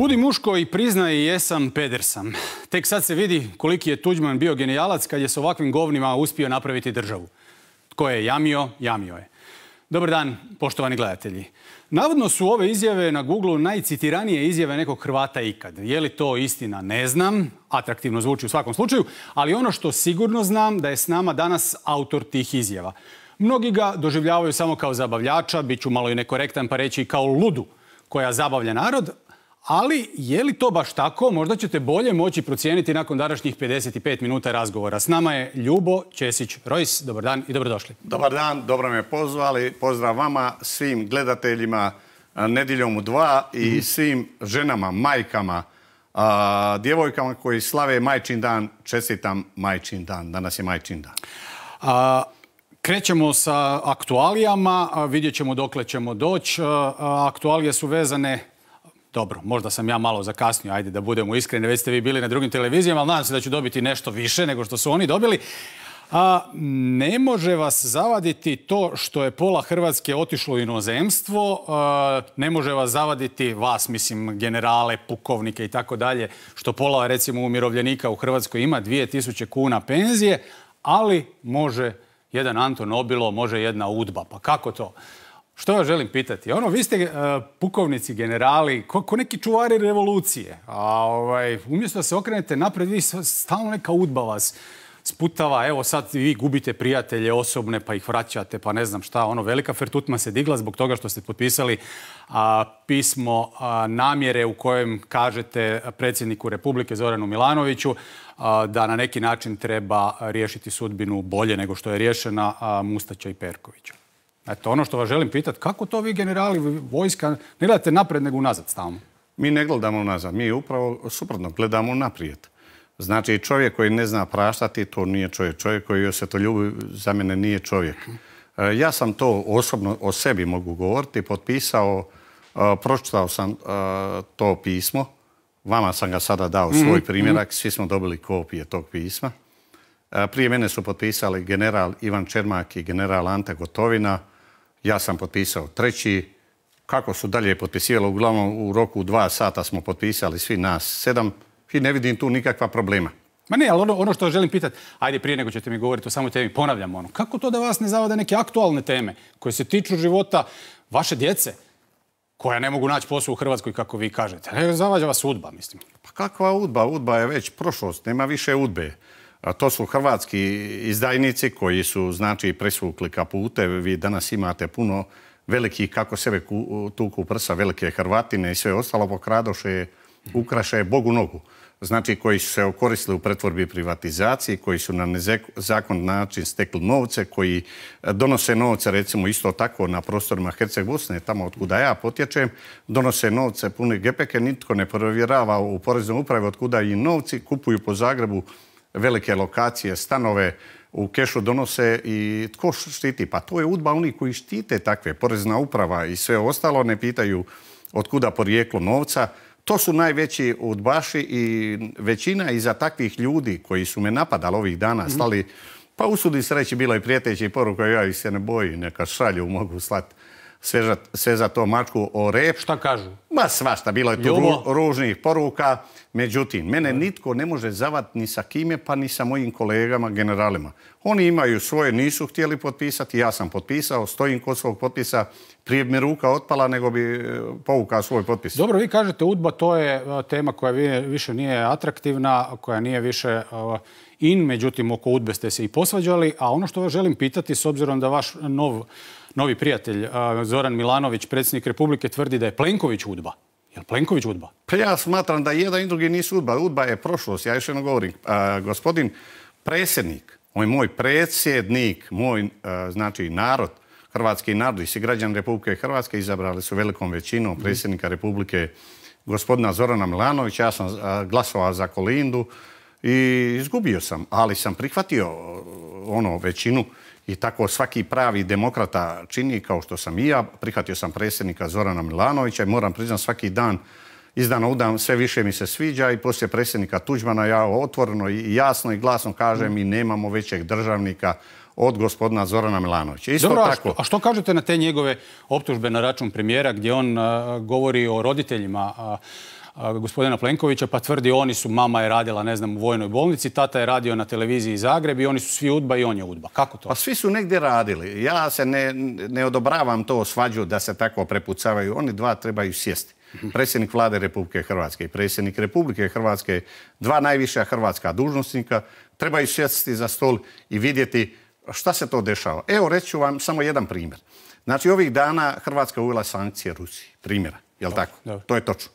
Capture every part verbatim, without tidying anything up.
Budi muško i priznaj jesam peder sam. Tek sad se vidi koliki je Tuđman bio genijalac kad je s ovakvim govnima uspio napraviti državu. Tko je jamio, jamio je. Dobar dan, poštovani gledatelji. Navodno su ove izjave na Googleu najcitiranije izjave nekog Hrvata ikad. Je li to istina? Ne znam. Atraktivno zvuči u svakom slučaju. Ali ono što sigurno znam da je s nama danas autor tih izjava. Mnogi ga doživljavaju samo kao zabavljača, bit ću malo i nekorektan pa reći kao ludu koja zabavlja narod. Ali je li to baš tako? Možda ćete bolje moći procijeniti nakon današnjih pedeset pet minuta razgovora. S nama je Ljubo Ćesić-Rojs. Dobar dan i dobrodošli. Dobar dan, dobro me pozvali. Pozdrav vama, svim gledateljima Nedjeljom u dva i mm-hmm. svim ženama, majkama, a, djevojkama koji slave majčin dan. Čestitam majčin dan. Danas je majčin dan. A... Krećemo sa aktualijama, vidjet ćemo dokle ćemo doći. Aktualije su vezane, dobro, možda sam ja malo zakasnio, ajde da budemo iskreni, već ste vi bili na drugim televizijama, ali nadam se da ću dobiti nešto više nego što su oni dobili. A, ne može vas zavaditi to što je pola Hrvatske otišlo u inozemstvo, a, ne može vas zavaditi vas, mislim, generale, pukovnike i tako dalje, što pola, recimo, umirovljenika u Hrvatskoj ima dvije tisuće kuna penzije, ali može jedan Anton Obilo, može jedna UDBA. Pa kako to? Što vas želim pitati? Ono, vi ste uh, pukovnici, generali, ko, ko neki čuvari revolucije. A ovaj, umjesto da se okrenete napred, vi stalno neka UDBA vas sputava. Evo sad vi gubite prijatelje osobne, pa ih vraćate, pa ne znam šta. Ono, velika fertutma se digla zbog toga što ste potpisali a, pismo a, namjere u kojem kažete predsjedniku Republike Zoranu Milanoviću a, da na neki način treba riješiti sudbinu bolje nego što je riješena a, Mustača i Perkovića. Eto, ono što vas želim pitati, kako to vi, generali, vojska, ne gledate napred nego unazad stalno? Mi ne gledamo nazad, mi upravo suprotno gledamo naprijed. Znači, čovjek koji ne zna praštati, to nije čovjek. Čovjek koji osvetoljubi, za mene nije čovjek. Ja sam to osobno o sebi mogu govoriti, potpisao, pročitao sam to pismo. Vama sam ga sada dao svoj primjerak, svi smo dobili kopije tog pisma. Prije mene su potpisali general Ivan Čermak i general Ante Gotovina. Ja sam potpisao treći. Kako su dalje potpisivali? Uglavnom u roku dva sata smo potpisali svi nas sedam. I ne vidim tu nikakva problema. Ma ne, ali ono, ono što želim pitati, ajde prije nego ćete mi govoriti o samoj temi, ponavljam ono, kako to da vas ne zavade neke aktualne teme koje se tiču života vaše djece, koja ne mogu naći posao u Hrvatskoj, kako vi kažete? Ne zavađa vas UDBA, mislim. Pa kakva UDBA? UDBA je već prošlost, nema više UDBE. A to su hrvatski izdajnici koji su, znači, presvukli kapute. Vi danas imate puno velikih, kako sebe tuku prsa, velike Hrvatine i sve ostalo, pokradoše, ukraše Bogu nogu. Znači, koji su se okoristili u pretvorbi i privatizaciji, koji su na nezakon način stekli novce, koji donose novce, recimo, isto tako na prostorima Herceg Bosne, tamo otkuda ja potječem, donose novce pune gepeke, nitko ne provjerava u poreznoj upravi otkuda im novci, kupuju po Zagrebu velike lokacije, stanove, u kešu donose i tko štiti? Pa to je UDBA, oni koji štite takve, porezna uprava i sve ostalo, ne pitaju otkuda porijeklo novca. To su najveći udbaši i većina iza takvih ljudi koji su me napadali ovih dana slali, pa usudi se reći, bilo i prijeteći poruka, ja ih se ne boji, neka šalju, mogu slati sve za to mačku o rep. Šta kažu? Ma svašta, bilo je tu ru, ružnih poruka. Međutim, mene nitko ne može zavati ni sa kime, pa ni sa mojim kolegama, generalima. Oni imaju svoje, nisu htjeli potpisati, ja sam potpisao, stojim kod svog potpisa, prije mi ruka otpala nego bi povukao svoj potpis. Dobro, vi kažete UDBA, to je tema koja više nije atraktivna, koja nije više in, međutim oko UDBE ste se i posvađali, a ono što vas želim pitati, s obzirom da vaš nov, novi prijatelj Zoran Milanović, predsjednik Republike, tvrdi da je Plenković UDBA. Je li Plenković UDBA? Pa ja smatram da jedan i drugi nisu UDBA. UDBA je prošlost, ja još jedno govorim. A, gospodin predsjednik, on je moj predsjednik, moj, a, znači, narod, hrvatski narod i svi građani Republike Hrvatske izabrali su velikom većinom predsjednika Republike gospodina Zorana Milanovića. Ja sam a, glasovao za Kolindu i izgubio sam, ali sam prihvatio ono većinu i tako svaki pravi demokrata čini kao što sam i ja. Prihvatio sam predsjednika Zorana Milanovića i moram priznati svaki dan, iz dana u dan, sve više mi se sviđa i poslije predsjednika Tuđmana ja otvoreno i jasno i glasno kažem i nemamo većeg državnika od gospodina Zorana Milanovića. Isto Dobro, tako. A, što, a što kažete na te njegove optužbe na račun premijera gdje on a, govori o roditeljima a, gospodina Plenkovića, pa tvrdi oni su, mama je radila, ne znam, u vojnoj bolnici, tata je radio na televiziji Zagreb i oni su svi udba i on je udba. Kako to? Pa svi su negdje radili. Ja se ne, ne odobravam to svađu da se tako prepucavaju. Oni dva trebaju sjesti. Predsjednik vlade Republike Hrvatske i predsjednik Republike Hrvatske, dva najviša hrvatska dužnosnika, trebaju sjesti za stol i vidjeti šta se to dešava. Evo, reći ću vam samo jedan primjer. Znači, ovih dana Hrvatska uvela sankcije Rusiji. Primjera, je li tako? Da. To je točno.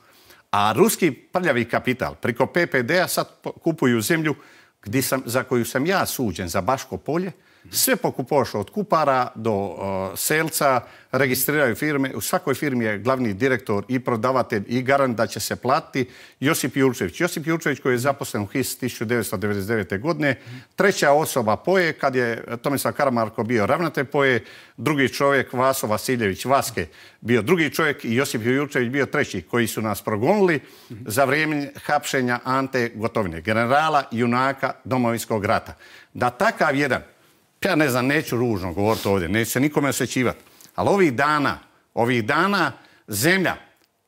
A ruski prljavi kapital preko P P D-a sad kupuju zemlju gdje sam, za koju sam ja suđen, za Baško polje. Sve pokupoš od kupara do uh, selca, registriraju firme. U svakoj firmi je glavni direktor i prodavatelj i garant da će se platiti Josip Jurčević. Josip Jurčević koji je zaposlen u H I S tisuću devetsto devedeset devete. godine. Treća osoba Poje, kad je Tomislav Karamarko bio ravnatelj Poje, drugi čovjek Vaso Vasiljević Vaske bio drugi čovjek i Josip Jurčević bio treći, koji su nas progonili za vrijeme hapšenja Ante Gotovine, generala junaka Domovinskog rata. Da takav jedan, ja ne znam, neću ružno govoriti ovdje, neću se nikome osjećivati, ali ovih dana, ovih dana zemlja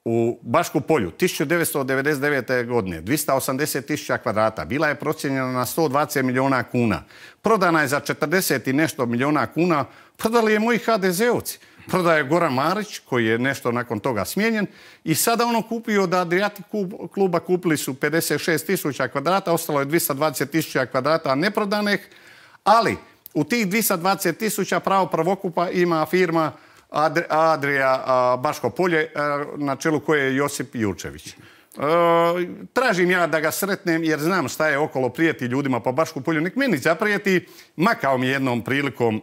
u Bašku polju tisuću devetsto devedeset devete. godine, dvjesto osamdeset tisuća kvadrata, bila je procijenjena na sto dvadeset milijuna kuna. Prodana je za četrdeset i nešto milijuna kuna, prodali je moji ha de zeovci. Prodaje je Goran Marić, koji je nešto nakon toga smijenjen, i sada ono kupio od Adriatic kluba, kupili su pedeset šest tisuća kvadrata, ostalo je dvjesto dvadeset tisuća kvadrata neprodanih, ali u tih dvjesto dvadeset tisuća pravo prvokupa ima firma Adria Baško polje, na čelu koje je Josip Jurčević. E, tražim ja da ga sretnem jer znam šta je okolo prijeti ljudima po Bašku polju. Nek meni zaprijeti, makao mi jednom prilikom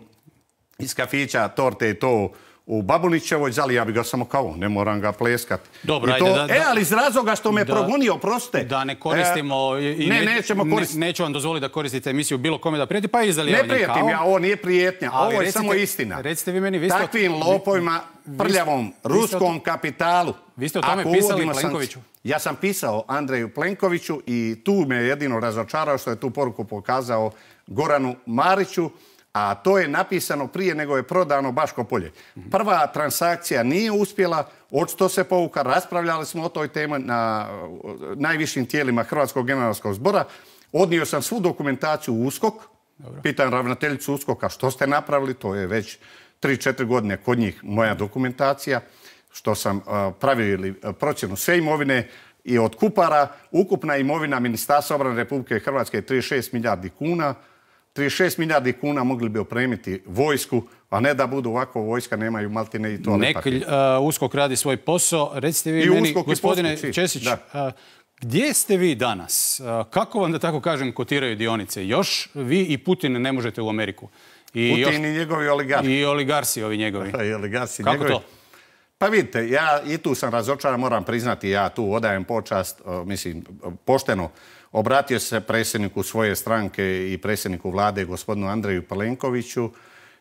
iz kafića torte i to u Babunićevoj, zali ja bi ga samo kao, ne moram ga pleskati. Dobro, to, ajde, da, e, ali iz razloga što me da, progonio, prostite. Da ne koristimo... E, i ne, ne, nećemo koristiti. Ne, neću vam dozvoliti da koristite emisiju bilo kome da prijeti, pa i zalijevanje kao. Ne prijetim ja, ovo nije prijetnja, ali ovo je recite, samo istina. Recite vi meni, vi ste... Takvim lopovima, prljavom, ruskom kapitalu... Vi ste o tome pisali Plenkoviću? Ja sam pisao Andreju Plenkoviću i tu me jedino razočarao što je tu poruku pokazao Goranu Mariću, a to je napisano prije nego je prodano Baško polje. Prva transakcija nije uspjela, očito se povuka, raspravljali smo o toj temi na najvišim tijelima Hrvatskog generalskog zbora. Odnio sam svu dokumentaciju u USKOK, pitam ravnateljicu USKOK-a što ste napravili, to je već tri četiri godine kod njih moja dokumentacija, što sam pravili procjenu sve imovine i od kupara. Ukupna imovina Ministarstva obrane Republike Hrvatske je trideset šest milijardi kuna. trideset šest milijardi kuna mogli bi opremiti vojsku, a ne da budu ovako vojska, nemaju maltine i toalet papir. Nek uh, USKOK radi svoj posao. Recite vi meni, gospodine Česić, uh, gdje ste vi danas? Uh, kako vam, da tako kažem, kotiraju dionice? Još vi i Putin ne možete u Ameriku. I Putin još, i njegovi oligarsi. I oligarsi ovi njegovi. I oligarsi kako njegovi. to? Pa vidite, ja i tu sam razočaran, moram priznati, ja tu odajem počast, mislim, pošteno. Obratio se predsjedniku svoje stranke i predsjedniku vlade, gospodinu Andreju Plenkoviću,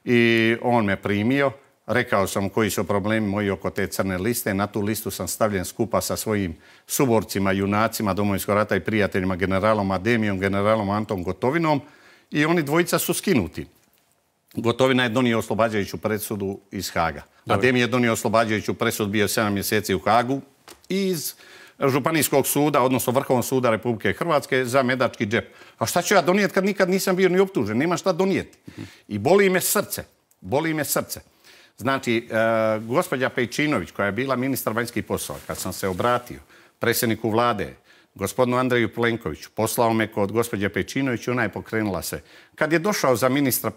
i on me primio. Rekao sam koji su problemi moji oko te crne liste. Na tu listu sam stavljen skupa sa svojim suborcima, junacima Domovinskog rata i prijateljima, generalom Ademijom, generalom Antom Gotovinom, i oni dvojica su skinuti. Gotovina je donio oslobađajuću presudu iz Haga. Ademij je donio oslobađajuću presudu, bio sedam mjeseci u Hagu, iz Županijskog suda, odnosno Vrhovnog suda Republike Hrvatske za medački džep. A šta ću ja donijeti kad nikad nisam bio ni optužen? Nema šta donijeti. I boli me srce. Boli me srce. Znači, e, gospođa Pejčinović, koja je bila ministar vanjskih poslova, kad sam se obratio predsjedniku vlade, gospodinu Andreju Plenkoviću, poslao me kod gospođe Pejčinović i ona je pokrenula se. Kad je došao za ministra,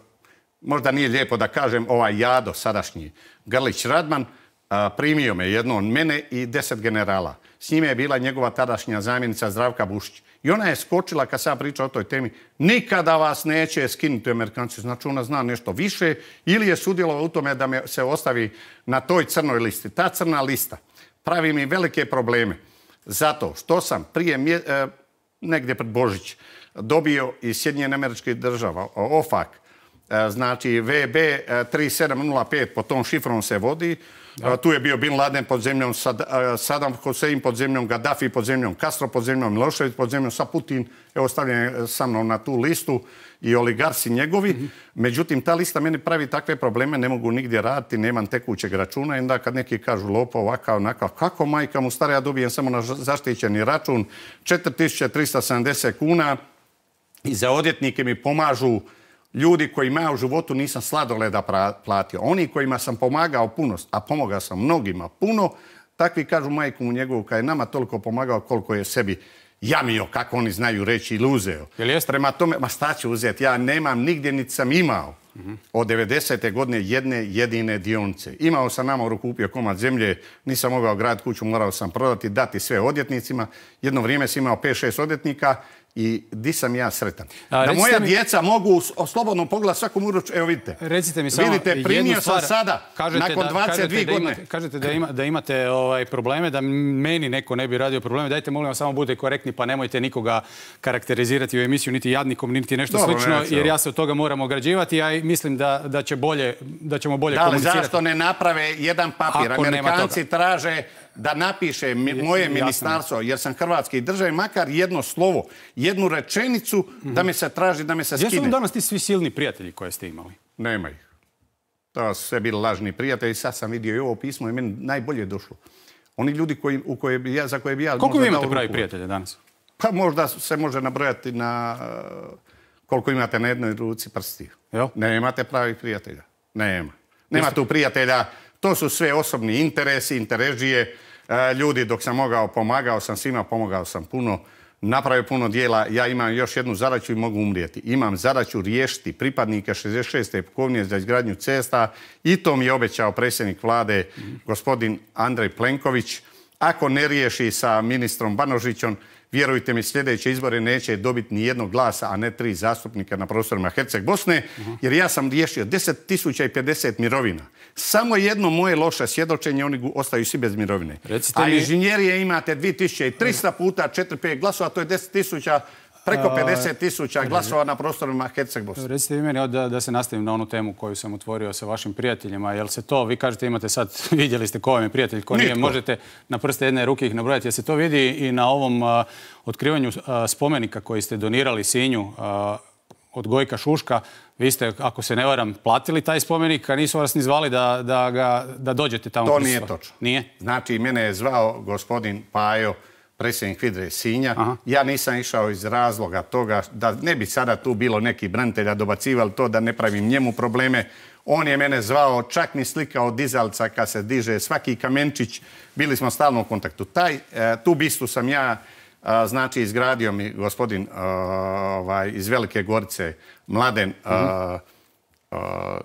možda nije lijepo da kažem, ovaj jado sadašnji Grlić Radman, a, primio me jedno mene i deset generala. S njime je bila njegova tadašnja zamjenica Zdravka Bušić. I ona je skočila, kad sam pričao o toj temi, nikada vas neće skinuti Amerikanci. Znači ona zna nešto više ili je sudjelovao u tome da me se ostavi na toj crnoj listi. Ta crna lista pravi mi velike probleme. Zato što sam prije mje, e, negdje pred Božić dobio iz Sjedinjenih Američkih Država O F A C, e, znači V B tri sedam nula pet, po tom šifrom se vodi, Tu je bio Bin Laden pod zemljom, Saddam Hussein pod zemljom, Gaddafi pod zemljom, Castro pod zemljom, Milošević pod zemljom, sad Putin, evo stavljen sa mnom na tu listu i oligarsi njegovi. Mm-hmm. Međutim, ta lista meni pravi takve probleme, ne mogu nigdje raditi, nemam tekućeg računa. I onda kad neki kažu lopo, ovakav, onakav, kako majka mu stara, ja dobijem samo na zaštićeni račun četiri tisuće trista sedamdeset kuna i za odvjetnike mi pomažu ljudi kojima ja u životu nisam sladoleda platio. Oni kojima sam pomagao puno, a pomogao sam mnogima puno, takvi kažu majku mu njegovu, kad je nama toliko pomagao koliko je sebi jamio, kako oni znaju reći, ili uzeo. Prema tome, ma šta ću uzeti? Ja nemam nigdje, niti sam imao od devedesete godine jedne jedine dionice. Imao sam nama kupio komad zemlje, nisam mogao graditi kuću, morao sam prodati, dati sve odvjetnicima. Jedno vrijeme sam imao pet šest odvjetnika i di sam ja sretan. A, da moja mi... djeca mogu slobodno pogledati svakom uruču, evo vidite. Recite mi samo vidite, primio sam sada, nakon da, dvadeset dvije godine. Imate, kažete da, ima, da imate ovaj, probleme, da meni neko ne bi radio probleme. Dajte, molim vas, samo budite korektni, pa nemojte nikoga karakterizirati u emisiju, niti jadnikom, niti nešto Dobro, slično, neće, jer ja se od toga moram ograđivati, a mislim da, da, će bolje, da ćemo bolje da, komunicirati. Zašto ne naprave jedan papir? Ako Amerikanci traže da napiše moje Jasne. ministarstvo, jer sam hrvatski državi, makar jedno slovo, jednu rečenicu, mm-hmm. da me se traži, da me se skine. Jesu vam danas ti svi silni prijatelji koje ste imali? Nema ih. To su sve bili lažni prijatelji. Sad sam vidio i ovo pismo i meni najbolje došlo. Oni ljudi koji, u koje bi ja, za koje bi ja... Koliko vi imate pravi prijatelja danas? Pa možda se može nabrojati na koliko imate na jednoj ruci prsti. Jo? Ne imate pravih prijatelja. Nema. Nema Jeste... tu prijatelja. To su sve osobni interesi, interesije. Ljudi, dok sam mogao, pomagao sam svima, pomogao sam puno, napravio puno dijela. Ja imam još jednu zadaću i mogu umrijeti. Imam zadaću riješiti pripadnike šezdeset šeste pukovnije za izgradnju cesta i to mi je obećao predsjednik vlade, mm-hmm. gospodin Andrej Plenković. Ako ne riješi sa ministrom Banožićom, vjerujte mi, sljedeće izbore neće dobiti ni jednog glasa, a ne tri zastupnika na prostorima Herceg Bosne, uh-huh. jer ja sam riješio deset tisuća pedeset mirovina. Samo jedno moje loše svjedočenje, oni ostaju svi bez mirovine. Recite a mi... inženjerije imate dvije tisuće trista puta četiri pet glasova, to je deset tisuća, preko pedeset tisuća glasova na prostorima Herceg Bosne. Recite vi meni da, da se nastavim na onu temu koju sam otvorio sa vašim prijateljima. Jel se to, vi kažete imate sad, vidjeli ste ko vam je prijatelj, ko nije, možete na prste jedne ruke ih nabrojati. Jel se to vidi i na ovom uh, otkrivanju uh, spomenika koji ste donirali Sinju uh, od Gojka Šuška? Vi ste, ako se ne varam, platili taj spomenik, a nisu vas ni zvali da, da, ga, da dođete tamo. To nije točno. Nije? Znači, mene je zvao gospodin Pajo, predsjednik HVIDRA-e Sinja. Aha. Ja nisam išao iz razloga toga da ne bi sada tu bilo neki branitelja dobacivali to da ne pravim njemu probleme. On je mene zvao, čak mi slikao dizalca kad se diže svaki kamenčić. Bili smo stalno u kontaktu. Taj, e, tu bistu sam ja a, znači izgradio mi gospodin a, ovaj, iz Velike Gorice, Mladen. A, Uh,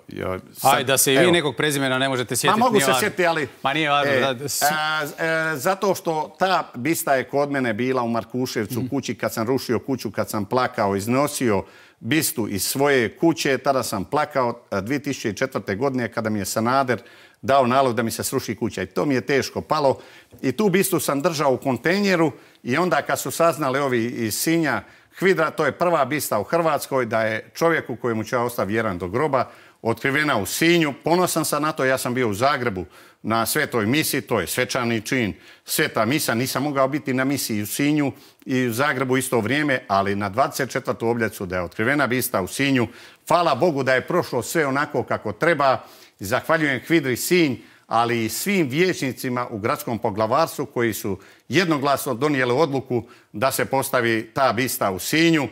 jo, sad, Aj, da se i vi evo, nekog prezimena ne možete sjetiti. Ma mogu se sjetiti, ali... Ma nije važno. E, da... e, e, zato što ta bista je kod mene bila u Markuševcu mm. kući, kad sam rušio kuću, kad sam plakao, iznosio bistu iz svoje kuće, tada sam plakao dvije tisuće četvrte godine kada mi je Sanader dao nalog da mi se sruši kuća. I to mi je teško palo. I tu bistu sam držao u kontejneru i onda kad su saznali ovi iz Sinja, HVIDRA, to je prva bista u Hrvatskoj, da je čovjeku kojemu ću ja ostati vjeran do groba, otkrivena u Sinju. Ponosan sam na to, ja sam bio u Zagrebu na svetoj misi, to je svečani čin, sveta misa. Nisam mogao biti na misiji u Sinju i u Zagrebu isto vrijeme, ali na dvadeset četvrtu obljetnicu da je otkrivena bista u Sinju. Hvala Bogu da je prošlo sve onako kako treba. Zahvaljujem HVIDRI Sinj, ali i svim vijećnicima u gradskom poglavarstvu koji su jednoglasno donijeli odluku da se postavi ta bista u Sinju.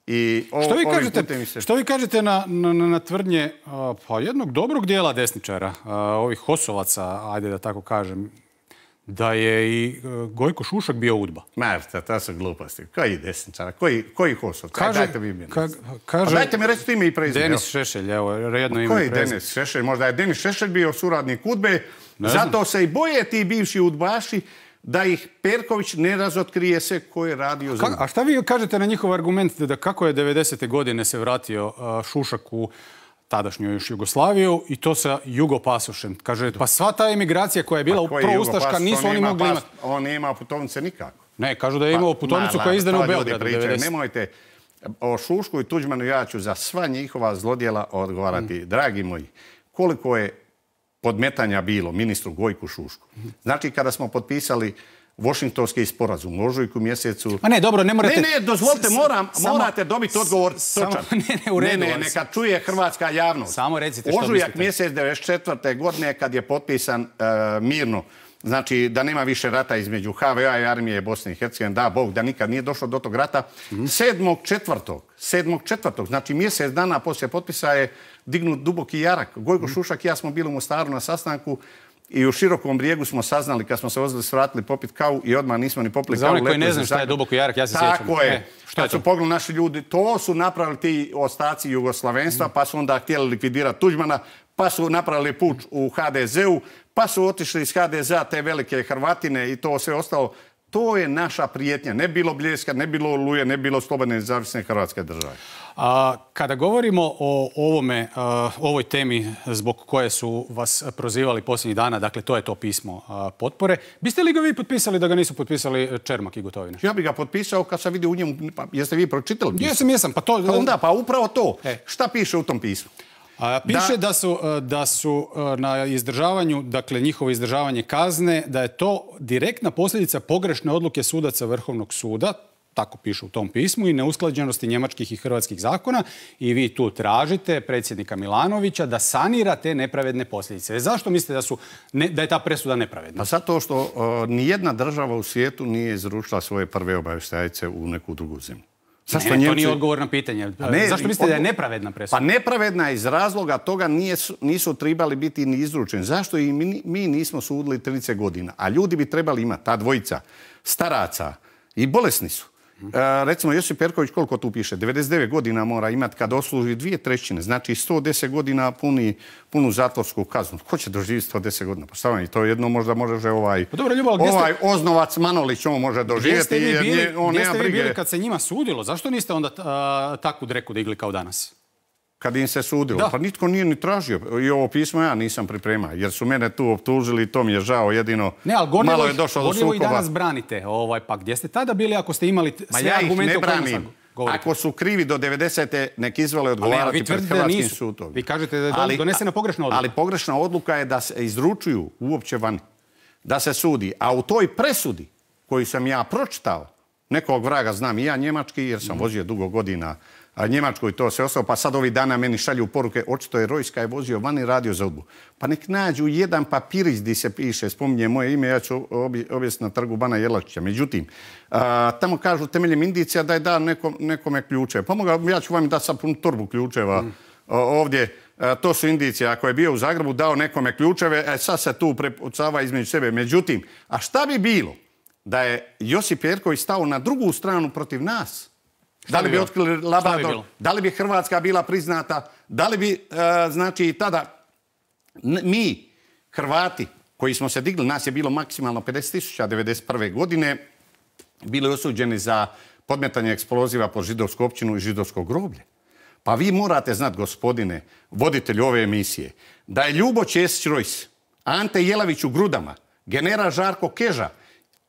I o, što, vi kažete, se... što vi kažete na, na, na tvrdnje uh, pa jednog dobrog dijela desničara, uh, ovih hosovaca, ajde da tako kažem, da je i uh, Gojko Šušak bio udba? Marta, to su gluposti. Koji desničara? Koji, koji hosovci? Kaže, dajte mi ime. Ka, kaže, dajte mi recite ime i prezime. Denis Šešelj, evo, redno ime i prezime. Koji Denis Šešelj? Možda je Denis Šešelj bio suradnik udbe. Zato se i boje ti bivši udbaši da ih Perković ne razotkrije sve ko je radio za... A šta vi kažete na njihov argument da kako je devedesete godine se vratio uh, Šušak u tadašnju još Jugoslaviju i to sa jugopasošem? Kaže, pa sva ta emigracija koja je bila proustaška nisu oni mogli imati. On nije imao putovnice nikako. Ne, kažu da je imao putovnicu koja je izdana u Beogradu. Nemojte, o Šušku i Tuđmanu ja ću za sva njihova zlodjela odgovarati. Dragi moji, koliko je podmetanja bilo ministru Gojku Šušku. Znači, kada smo potpisali Washingtonski sporazum u ožujku mjesecu... Ma ne, dobro, ne morate... Ne, ne, dozvolite, moram, morate dobiti odgovor točan. Ne, ne, u redu. Ne, ne, neka čuje hrvatska javnost. Samo recite što mislite. Ožujak mjesec devedeset četvrte godine kad je potpisan uh, mirno, znači da nema više rata između ha ve a i armije Bosne i Hercegovine, da Bog, da nikad nije došlo do tog rata. sedmog četvrtog sedmog četvrtog znači mjesec dana poslije potpisa je dignut duboki jarak. Gojko Šušak i ja smo bili u Mostaru na sastanku i u Širokom Brijegu smo saznali kad smo se vozili svratili popit kavu i odmah nismo ni popili kavu. Za one koji ne znaju šta je duboki jarak, ja se sjećam. Tako je. E, kad su pogledali naši ljudi, to su napravili ti ostaci jugoslavenstva, pa su onda htjeli likvidirati Tuđmana, pa su napravili puč u ha de zeu, pa su otišli iz ha de zea te velike Hrvatine i to sve ostalo. To je naša prijetnja. Ne bilo Bljeska, ne bilo Oluje, ne bilo slobodne nezavisne Hrvatske države. A, kada govorimo o ovome, a, ovoj temi zbog koje su vas prozivali posljednjih dana, dakle to je to pismo a, potpore, biste li ga vi potpisali da ga nisu potpisali Čermak i Gotovina? Ja bih ga potpisao kad sam vidio u njemu, pa jeste vi pročitali pismo? Jesam, jesam. Pa, to... pa onda, pa upravo to. E. Šta piše u tom pismu? A, piše da, da su, da su na izdržavanju, dakle njihovo izdržavanje kazne, da je to direktna posljedica pogrešne odluke sudaca Vrhovnog suda, tako piše u tom pismu, i neusklađenosti njemačkih i hrvatskih zakona, i vi tu tražite predsjednika Milanovića da sanira te nepravedne posljedice. Zašto mislite da, su, ne, da je ta presuda nepravedna? Pa zato što uh, nijedna država u svijetu nije izručila svoje prve obavještajce u neku drugu zemlju. Zašto ne, Njemci... to nije odgovor na pitanje. Ne, zašto mislite odgovor... da je nepravedna presuda? Pa nepravedna iz razloga toga nije, nisu trebali biti ni izručeni. Zašto i mi, mi nismo sudili trideset godina? A ljudi bi trebali imati, ta dvojica staraca i bolesni su. Uh, recimo, Josip Perković, koliko tu piše? devedeset devet godina mora imati kad osluži dvije trećine. Znači, sto deset godina puni, punu zatvorsku kaznu. Ko će doživjeti sto deset godina? Pa stavljanje, to jedno možda može ovaj, pa dobro, Ljubav, ovaj ste... Oznovac Manolić, on može doživjeti. Gdje ste vi bili, jer on gdje nema ste vi brige. bili kad se njima sudilo? Zašto niste onda uh, takvu dreku digli kao danas? Kad im se sudilo. Da. Pa nitko nije ni tražio. I ovo pismo ja nisam pripremao. Jer su mene tu optužili, to mi je žao jedino. Ne, ali malo je došlo do sukoba. I danas branite. Ovaj, pa gdje ste tada bili ako ste imali sve Ma ja argumente ih ne branim. Ako su krivi do devedesete, nek izvole odgovarati pred Hrvatskim sudom. Vi kažete da je ali, donesena pogrešna odluka. Ali pogrešna odluka je da se izručuju uopće vani. Da se sudi. A u toj presudi koju sam ja pročitao, nekog vraga znam i ja njemački, jer sam mm. vozio dugo godina a Njemačkoj to se ostalo, pa sad ovih dana meni šalju poruke, očito je Rojska je vozio van i radio za udbu. Pa nek nađu jedan papirić gdje se piše, spominje moje ime, ja ću objasniti na trgu Bana Jelačića. Međutim, a, tamo kažu temeljem indicija da je da nekom, nekome ključe. Pa mogu, ja ću vam dati sad punu torbu ključeva mm. a, ovdje. A, to su indicije. Ako je bio u Zagrebu, dao nekome ključeve, e, sad se tu prepucava između sebe. Međutim, a šta bi bilo da je Josip Perković stao na drugu stranu protiv nas? Da li bi otkrili Labrador, da li bi Hrvatska bila priznata, da li bi, e, znači, tada mi, Hrvati, koji smo se digli, nas je bilo maksimalno pedeset tisuća devedeset prve godine, bili osuđeni za podmetanje eksploziva po židovsku općinu i židovsko groblje. Pa vi morate znati, gospodine, voditelju ove emisije, da je Ljubo Ćesić-Rojs, Ante Jelavić u Grudama, general Žarko Keža,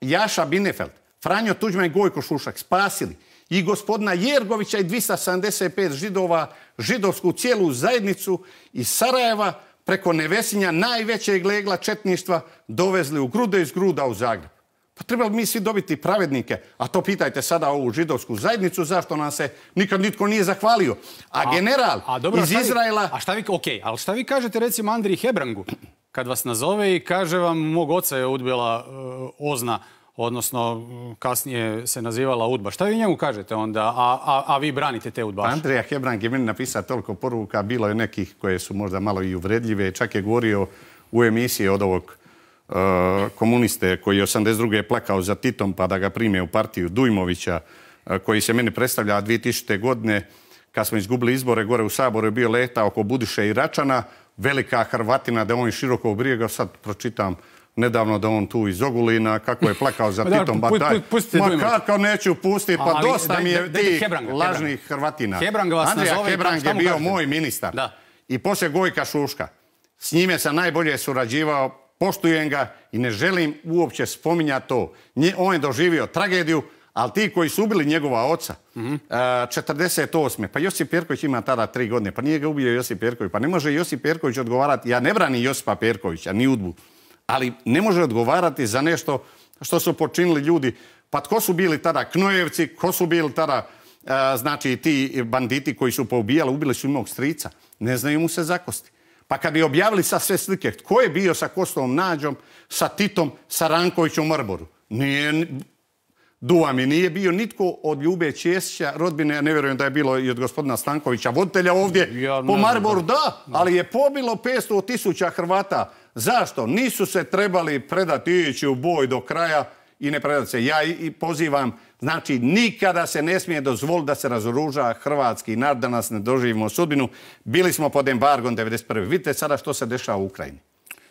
Jaša Binefeld, Franjo Tuđman i Gojko Šušak spasili i gospodina Jergovića i dvjesto sedamdeset pet židova, židovsku cijelu zajednicu iz Sarajeva preko Nevesinja, najvećeg legla četništva, dovezli u Grude iz Gruda u Zagreb. Pa trebali mi svi dobiti pravednike, a to pitajte sada ovu židovsku zajednicu, zašto nam se nikad nitko nije zahvalio. A, a general a, dobro, iz Izraela... A šta vi, okay, ali šta vi kažete recimo Andriji Hebrangu, kad vas nazove i kaže vam mog oca je udbila uh, Ozna, odnosno kasnije se nazivala udba. Šta vi njemu kažete onda, a, a, a vi branite te udbaše? Andrija Hebrang je meni napisao toliko poruka, bilo je nekih koje su možda malo i uvredljive. Čak je govorio u emisiji od ovog uh, komuniste koji je osamdeset druge plakao za Titom pa da ga prime u partiju, Dujmovića, uh, koji se meni predstavlja dvije tisućite. godine kad smo izgubili izbore gore u Saboru je bio leta oko Budiše i Račana, velika Hrvatina, da on iz Širokog Brijega, sad pročitam nedavno da on tu iz Ogulina, kako je plakao za Titom. Ma daj, ma kako neću pustiti, pa dosta mi je tih lažnih Hrvatina. Andrija Hebrang je bio moj ministar. I poslije Gojka Šuška. S njime sam najbolje surađivao, poštujem ga i ne želim uopće spominjati to. On je doživio tragediju, Ali ti koji su ubili njegova oca, četrdeset osme pa Josip Perković ima tada tri godine, pa nije ga ubio Josip Perković, pa ne može Josip Perković odgovarati, ja ne branim Josipa Perkovića, ni udbu, ali ne može odgovarati za nešto što su počinili ljudi. Pa tko su bili tada Knojevci, ko su bili tada, znači, ti banditi koji su poubijali, ubili su mog strica, ne znaju mu se zakosti. Pa kad bi objavili sa sve slike, tko je bio sa Kostovom Nađom, sa Titom, sa Rankovićem u Marboru? Nije, duva mi, nije bio nitko od Ljube Ćesića, rodbine, ne vjerujem da je bilo i od gospodina Stankovića, voditelja ovdje ja, po Marboru, da, da, ali je pobilo petsto tisuća Hrvata. Zašto? Nisu se trebali predati, ići u boj do kraja i ne predati se. Ja i pozivam, znači, nikada se ne smije dozvoliti da se razoruža hrvatski narod, da nas ne doživimo sudbinu. Bili smo pod embargom devedeset prve Vidite sada što se dešava u Ukrajini.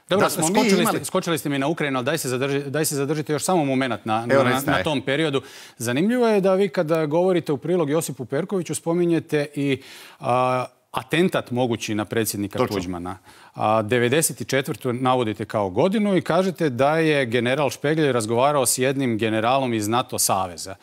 Dobro, skočili, imali... ste, skočili ste mi na Ukrajinu, ali daj se, zadrži, daj se zadržite još samo moment na, Evo, na, na tom periodu. Zanimljivo je da vi kada govorite u prilog Josipu Perkoviću spominjete i a, atentat mogući na predsjednika Točno. Tuđmana. A, devedeset četvrtu navodite kao godinu i kažete da je general Špegelj razgovarao s jednim generalom iz NATO saveza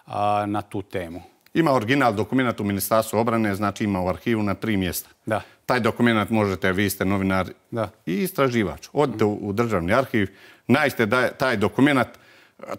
a, na tu temu. Ima original dokument u Ministarstvu obrane, znači ima u arhivu na tri mjesta. Da. Taj dokument možete, vi ste novinar da. I istraživač. Odite u, u državni arhiv, nađite da taj dokument,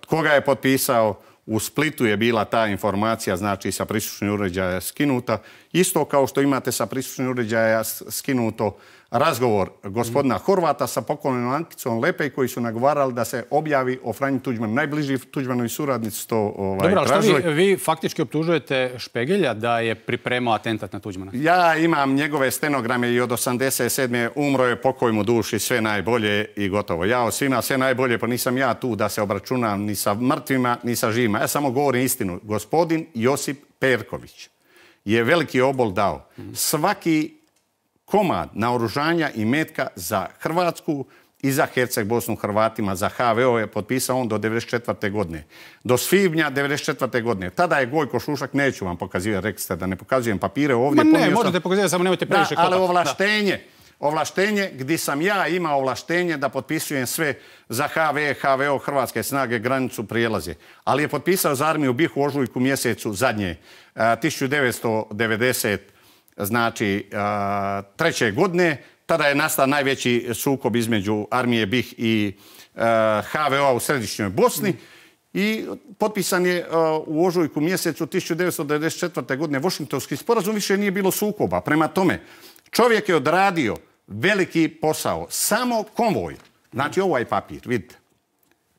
tko ga je potpisao, u Splitu je bila ta informacija, znači sa prislušnih uređaja skinuta. Isto kao što imate sa prislušnih uređaja skinuto razgovor gospodina Horvata sa pokojnom Ankicom Lepej koji su nagovarali da se objavi o Franji Tuđmanu. Najbliži Tuđmanovi suradnici su to ovaj, Dobro, ali tražili. Što vi, vi faktički optužujete Špegelja da je pripremao atentat na Tuđmana? Ja imam njegove stenograme i od osamdeset sedme umro je, pokoj mu duši, sve najbolje i gotovo. Ja o svima sve najbolje, pa nisam ja tu da se obračunam ni sa mrtvima, ni sa živima. Ja samo govorim istinu. Gospodin Josip Perković je veliki obol dao. Svaki komad naoružanja i metka za Hrvatsku i za Herceg Bosnu Hrvatima, za H V O je potpisao on do devedeset četvrte godine. Do svibnja devedeset četvrte godine. Tada je Gojko Šušak, neću vam pokazivati, rekli ste da ne pokazujem papire ovdje. Ma ne, možete pokazivati, samo nemojte previše kopati. Ali ovlaštenje, ovlaštenje gdje sam ja imao ovlaštenje da potpisujem sve za H V, H V O, Hrvatske snage, granicu, prijelaze. Ali je potpisao za armiju BiH u ožujku mjesecu zadnje, tisuću devetsto devedeset znači treće godine. Tada je nastao najveći sukob između armije BiH i H V O-a u središnjoj Bosni i potpisan je u ožujku mjesecu tisuću devetsto devedeset četvrte godine Washingtonski sporazum, više nije bilo sukoba. Prema tome, čovjek je odradio veliki posao, samo konvoj. Znači ovaj papir, vidite.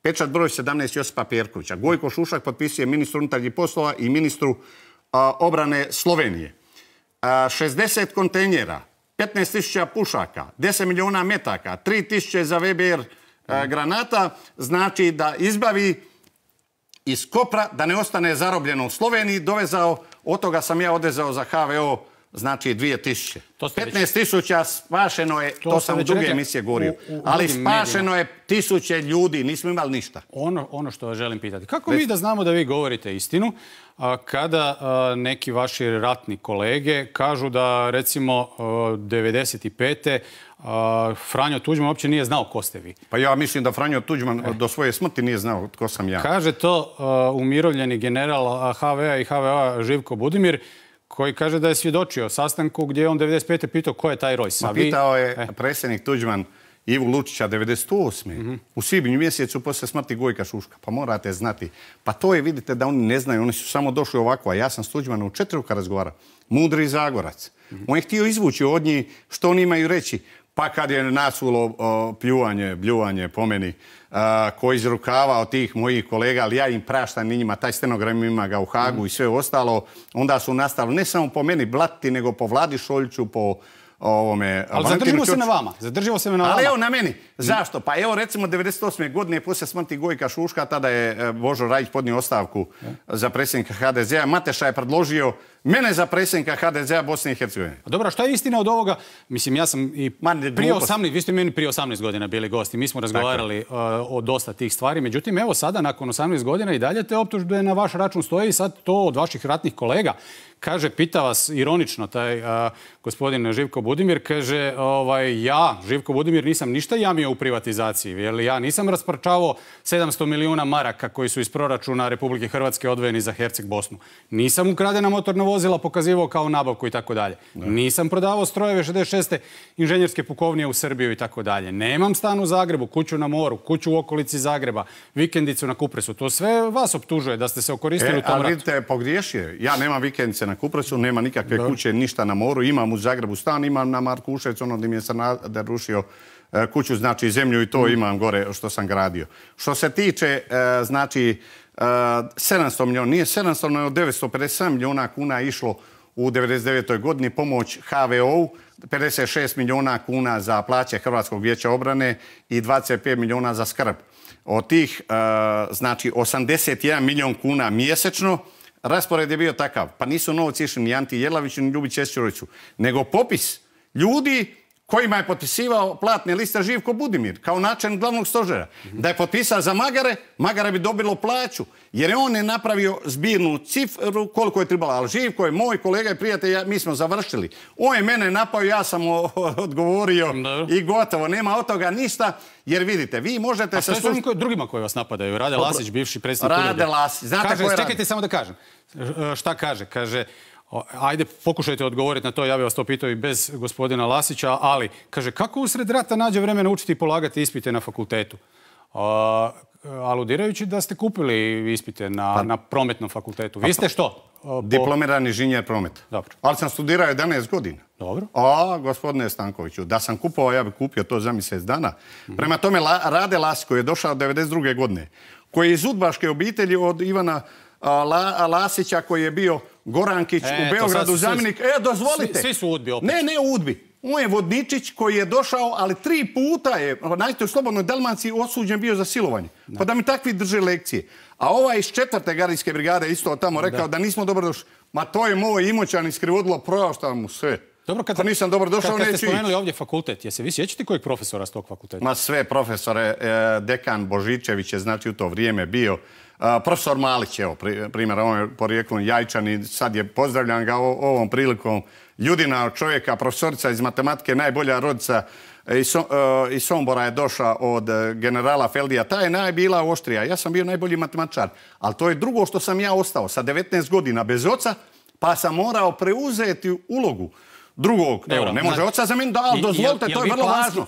Pečat broj sedamnaest Josipa Perkovića. Gojko Šušak potpisuje ministru unutarnjih poslova i ministru obrane Slovenije. šezdeset kontejnera, petnaest tisuća pušaka, deset milijuna metaka, tri tisuće za V B R granata, znači da izbavi iz Kopra, da ne ostane zarobljeno u Sloveniji, dovezao, od toga sam ja odvezao za H V O, znači dvije tisuće. petnaest tisuća spašeno je, to, to sam u druge emisije govorio, u, u ali spašeno medijima. Je tisuće ljudi, nismo imali ništa. Ono, ono što želim pitati, kako Već... mi da znamo da vi govorite istinu, a, kada a, neki vaši ratni kolege kažu da, recimo, a, devedeset pete a, Franjo Tuđman uopće nije znao ko ste vi? Pa ja mislim da Franjo Tuđman e. do svoje smrti nije znao tko sam ja. Kaže to a, umirovljeni general H V A i H V A Živko Budimir, koji kaže da je svjedočio sastanku gdje je on devedeset pete pitao ko je taj Rojs. Ma pitao je e. predsjednik Tuđman Ivu Lučića devedeset osme Mm-hmm. u svibnju mjesecu poslije smrti Gojka Šuška. Pa morate znati. Pa to je, vidite, da oni ne znaju. Oni su samo došli ovako. A ja sam s Tuđmanom u četiri ruka razgovarao. Mudri Zagorac. Mm-hmm. On je htio izvući od njih što oni imaju reći. Pa kad je nasulo o, pljuvanje, bljuvanje po meni, a, koji iz rukava od tih mojih kolega, ali ja im praštam njima, taj stenogram ima ga u Hagu mm. i sve ostalo, onda su nastavili ne samo po meni blatiti, nego po Vladi Šoljiću, po ovome... Ali zadržimo se na vama. Zadržimo se na vama. Ali evo na meni. Zašto? Pa evo recimo devedeset osme godine poslije smrti Gojka Šuška, tada je Božo Rajić podnio ostavku za predsjednika H D Z-a. Mateša je predložio mene za predsjednika H D Z-a Bosne i Hercegovine. Dobro, šta je istina od ovoga? Mislim, ja sam i prije osamnaest, vi ste meni prije osamnaest godina bili gosti. Mi smo razgovarali uh, o dosta tih stvari. Međutim, evo sada, nakon osamnaest godina i dalje te optužbe na vaš račun stoji i sad to od vaših ratnih kolega. Kaže, pita vas ironično taj uh, gospodin Živko Budimir, kaže, ovaj, ja, Živko Budimir, nisam ništa jamio u privatizaciji. Jer ja nisam rasparčavao sedamsto milijuna maraka koji su iz proračuna Republike Hrvatske odvojeni za Herceg Bosnu. Nisam ukradena motorna vozila pokazivao kao nabavku i tako dalje. Nisam prodavao strojeve šezdeset šeste inženjerske pukovnije u Srbiju i tako dalje. Nemam stan u Zagrebu, kuću na moru, kuću u okolici Zagreba, vikendicu na Kupresu. To sve vas optužuje da ste se okoristili e, u tom ratu. Ali vidite, pogriješio. Ja nemam vikendice na Kupresu, nema nikakve da. kuće, ništa na moru. Imam u Zagrebu stan, imam na Markuševcu, ono gdje mi je Sanader rušio e, kuću, znači zemlju i to mm. imam gore što sam gradio. Što se tiče, e, znači, e, sedamsto milijuna, nije sedamsto, no devetsto pedeset sedam milijuna kuna išlo u devedeset devetoj godini pomoć H V O-u, pedeset šest milijuna kuna za plaće Hrvatskog vijeća obrane i dvadeset pet milijuna za skrb. Od tih, e, znači, osamdeset jedan milijun kuna mjesečno. Raspored je bio takav. Pa nisu novci išli ni Anti Jelaviću, ni Ljubi Ćesiću, nego popis ljudi kojima je potpisivao platne liste Živko Budimir, kao načelnik glavnog stožera. Da je potpisao za Magare, Magare bi dobilo plaću, jer je on je napravio zbirnu cifru koliko je trebalo. Ali Živko je moj kolega i prijatelj, ja, mi smo završili. On je mene napao, ja sam odgovorio no. i gotovo. Nema od toga ništa, jer vidite, vi možete... A što je s koji, drugima koji vas napadaju? Rade Lasić, bivši predsjednik Rade Lasić, znate kaže, ko je čekajte samo da kažem. Šta kaže? Kaže... Ajde, pokušajte odgovoriti na to, ja bih vas to pitao i bez gospodina Lasića, ali, kaže, kako usred rata nađe vremena učiti i polagati ispite na fakultetu? A, aludirajući da ste kupili ispite na, pa, na prometnom fakultetu. Vi ste što? Po... Diplomirani inženjer prometa. Dobro. Ali sam studirao jedanaest godina. Dobro. A, gospodine Stankoviću, da sam kupovao, ja bih kupio to za mjesec dana. Mm-hmm. Prema tome, La, Rade Lasić, koji je došao od devedeset druge godine, koji je iz udbaške obitelji od Ivana a, La, Lasića, koji je bio Gorankić e, u Beogradu zamjenik. E, dozvolite. Svi, svi su udbi opet. Ne, ne udbi. On je Vodničić koji je došao, ali tri puta je, najte u Slobodnoj Dalmaciji, osuđen bio za silovanje. Da. Pa da mi takvi drže lekcije. A ovaj iz četvrte gardijske brigade isto tamo rekao da, da nismo dobro došli. Ma to je moj Imoćan iz Krivodilo, prošta mu sve. Dobro, kad, pa nisam dobro došao, kad, kad neću ste spomenuli ovdje fakultet, jesi vi sjećate kojeg profesora s tog fakulteta? Ma sve profesore, dekan Božičević je znači u to vrijeme bio. Uh, profesor Malić, evo, primjer, on je porijeklom Jajčan i sad je, pozdravljam ga o, ovom prilikom, Ljudina čovjeka, profesorica iz matematike, najbolja rodica iz, uh, iz Sombora je došla od uh, generala Feldija. Ta je najbila oštrija. Ja sam bio najbolji matematičar, ali to je drugo što sam ja ostao sa devetnaest godina bez oca, pa sam morao preuzeti ulogu drugog. Evo, ne može oca zameniti, ali dozvolite, to je vrlo važno.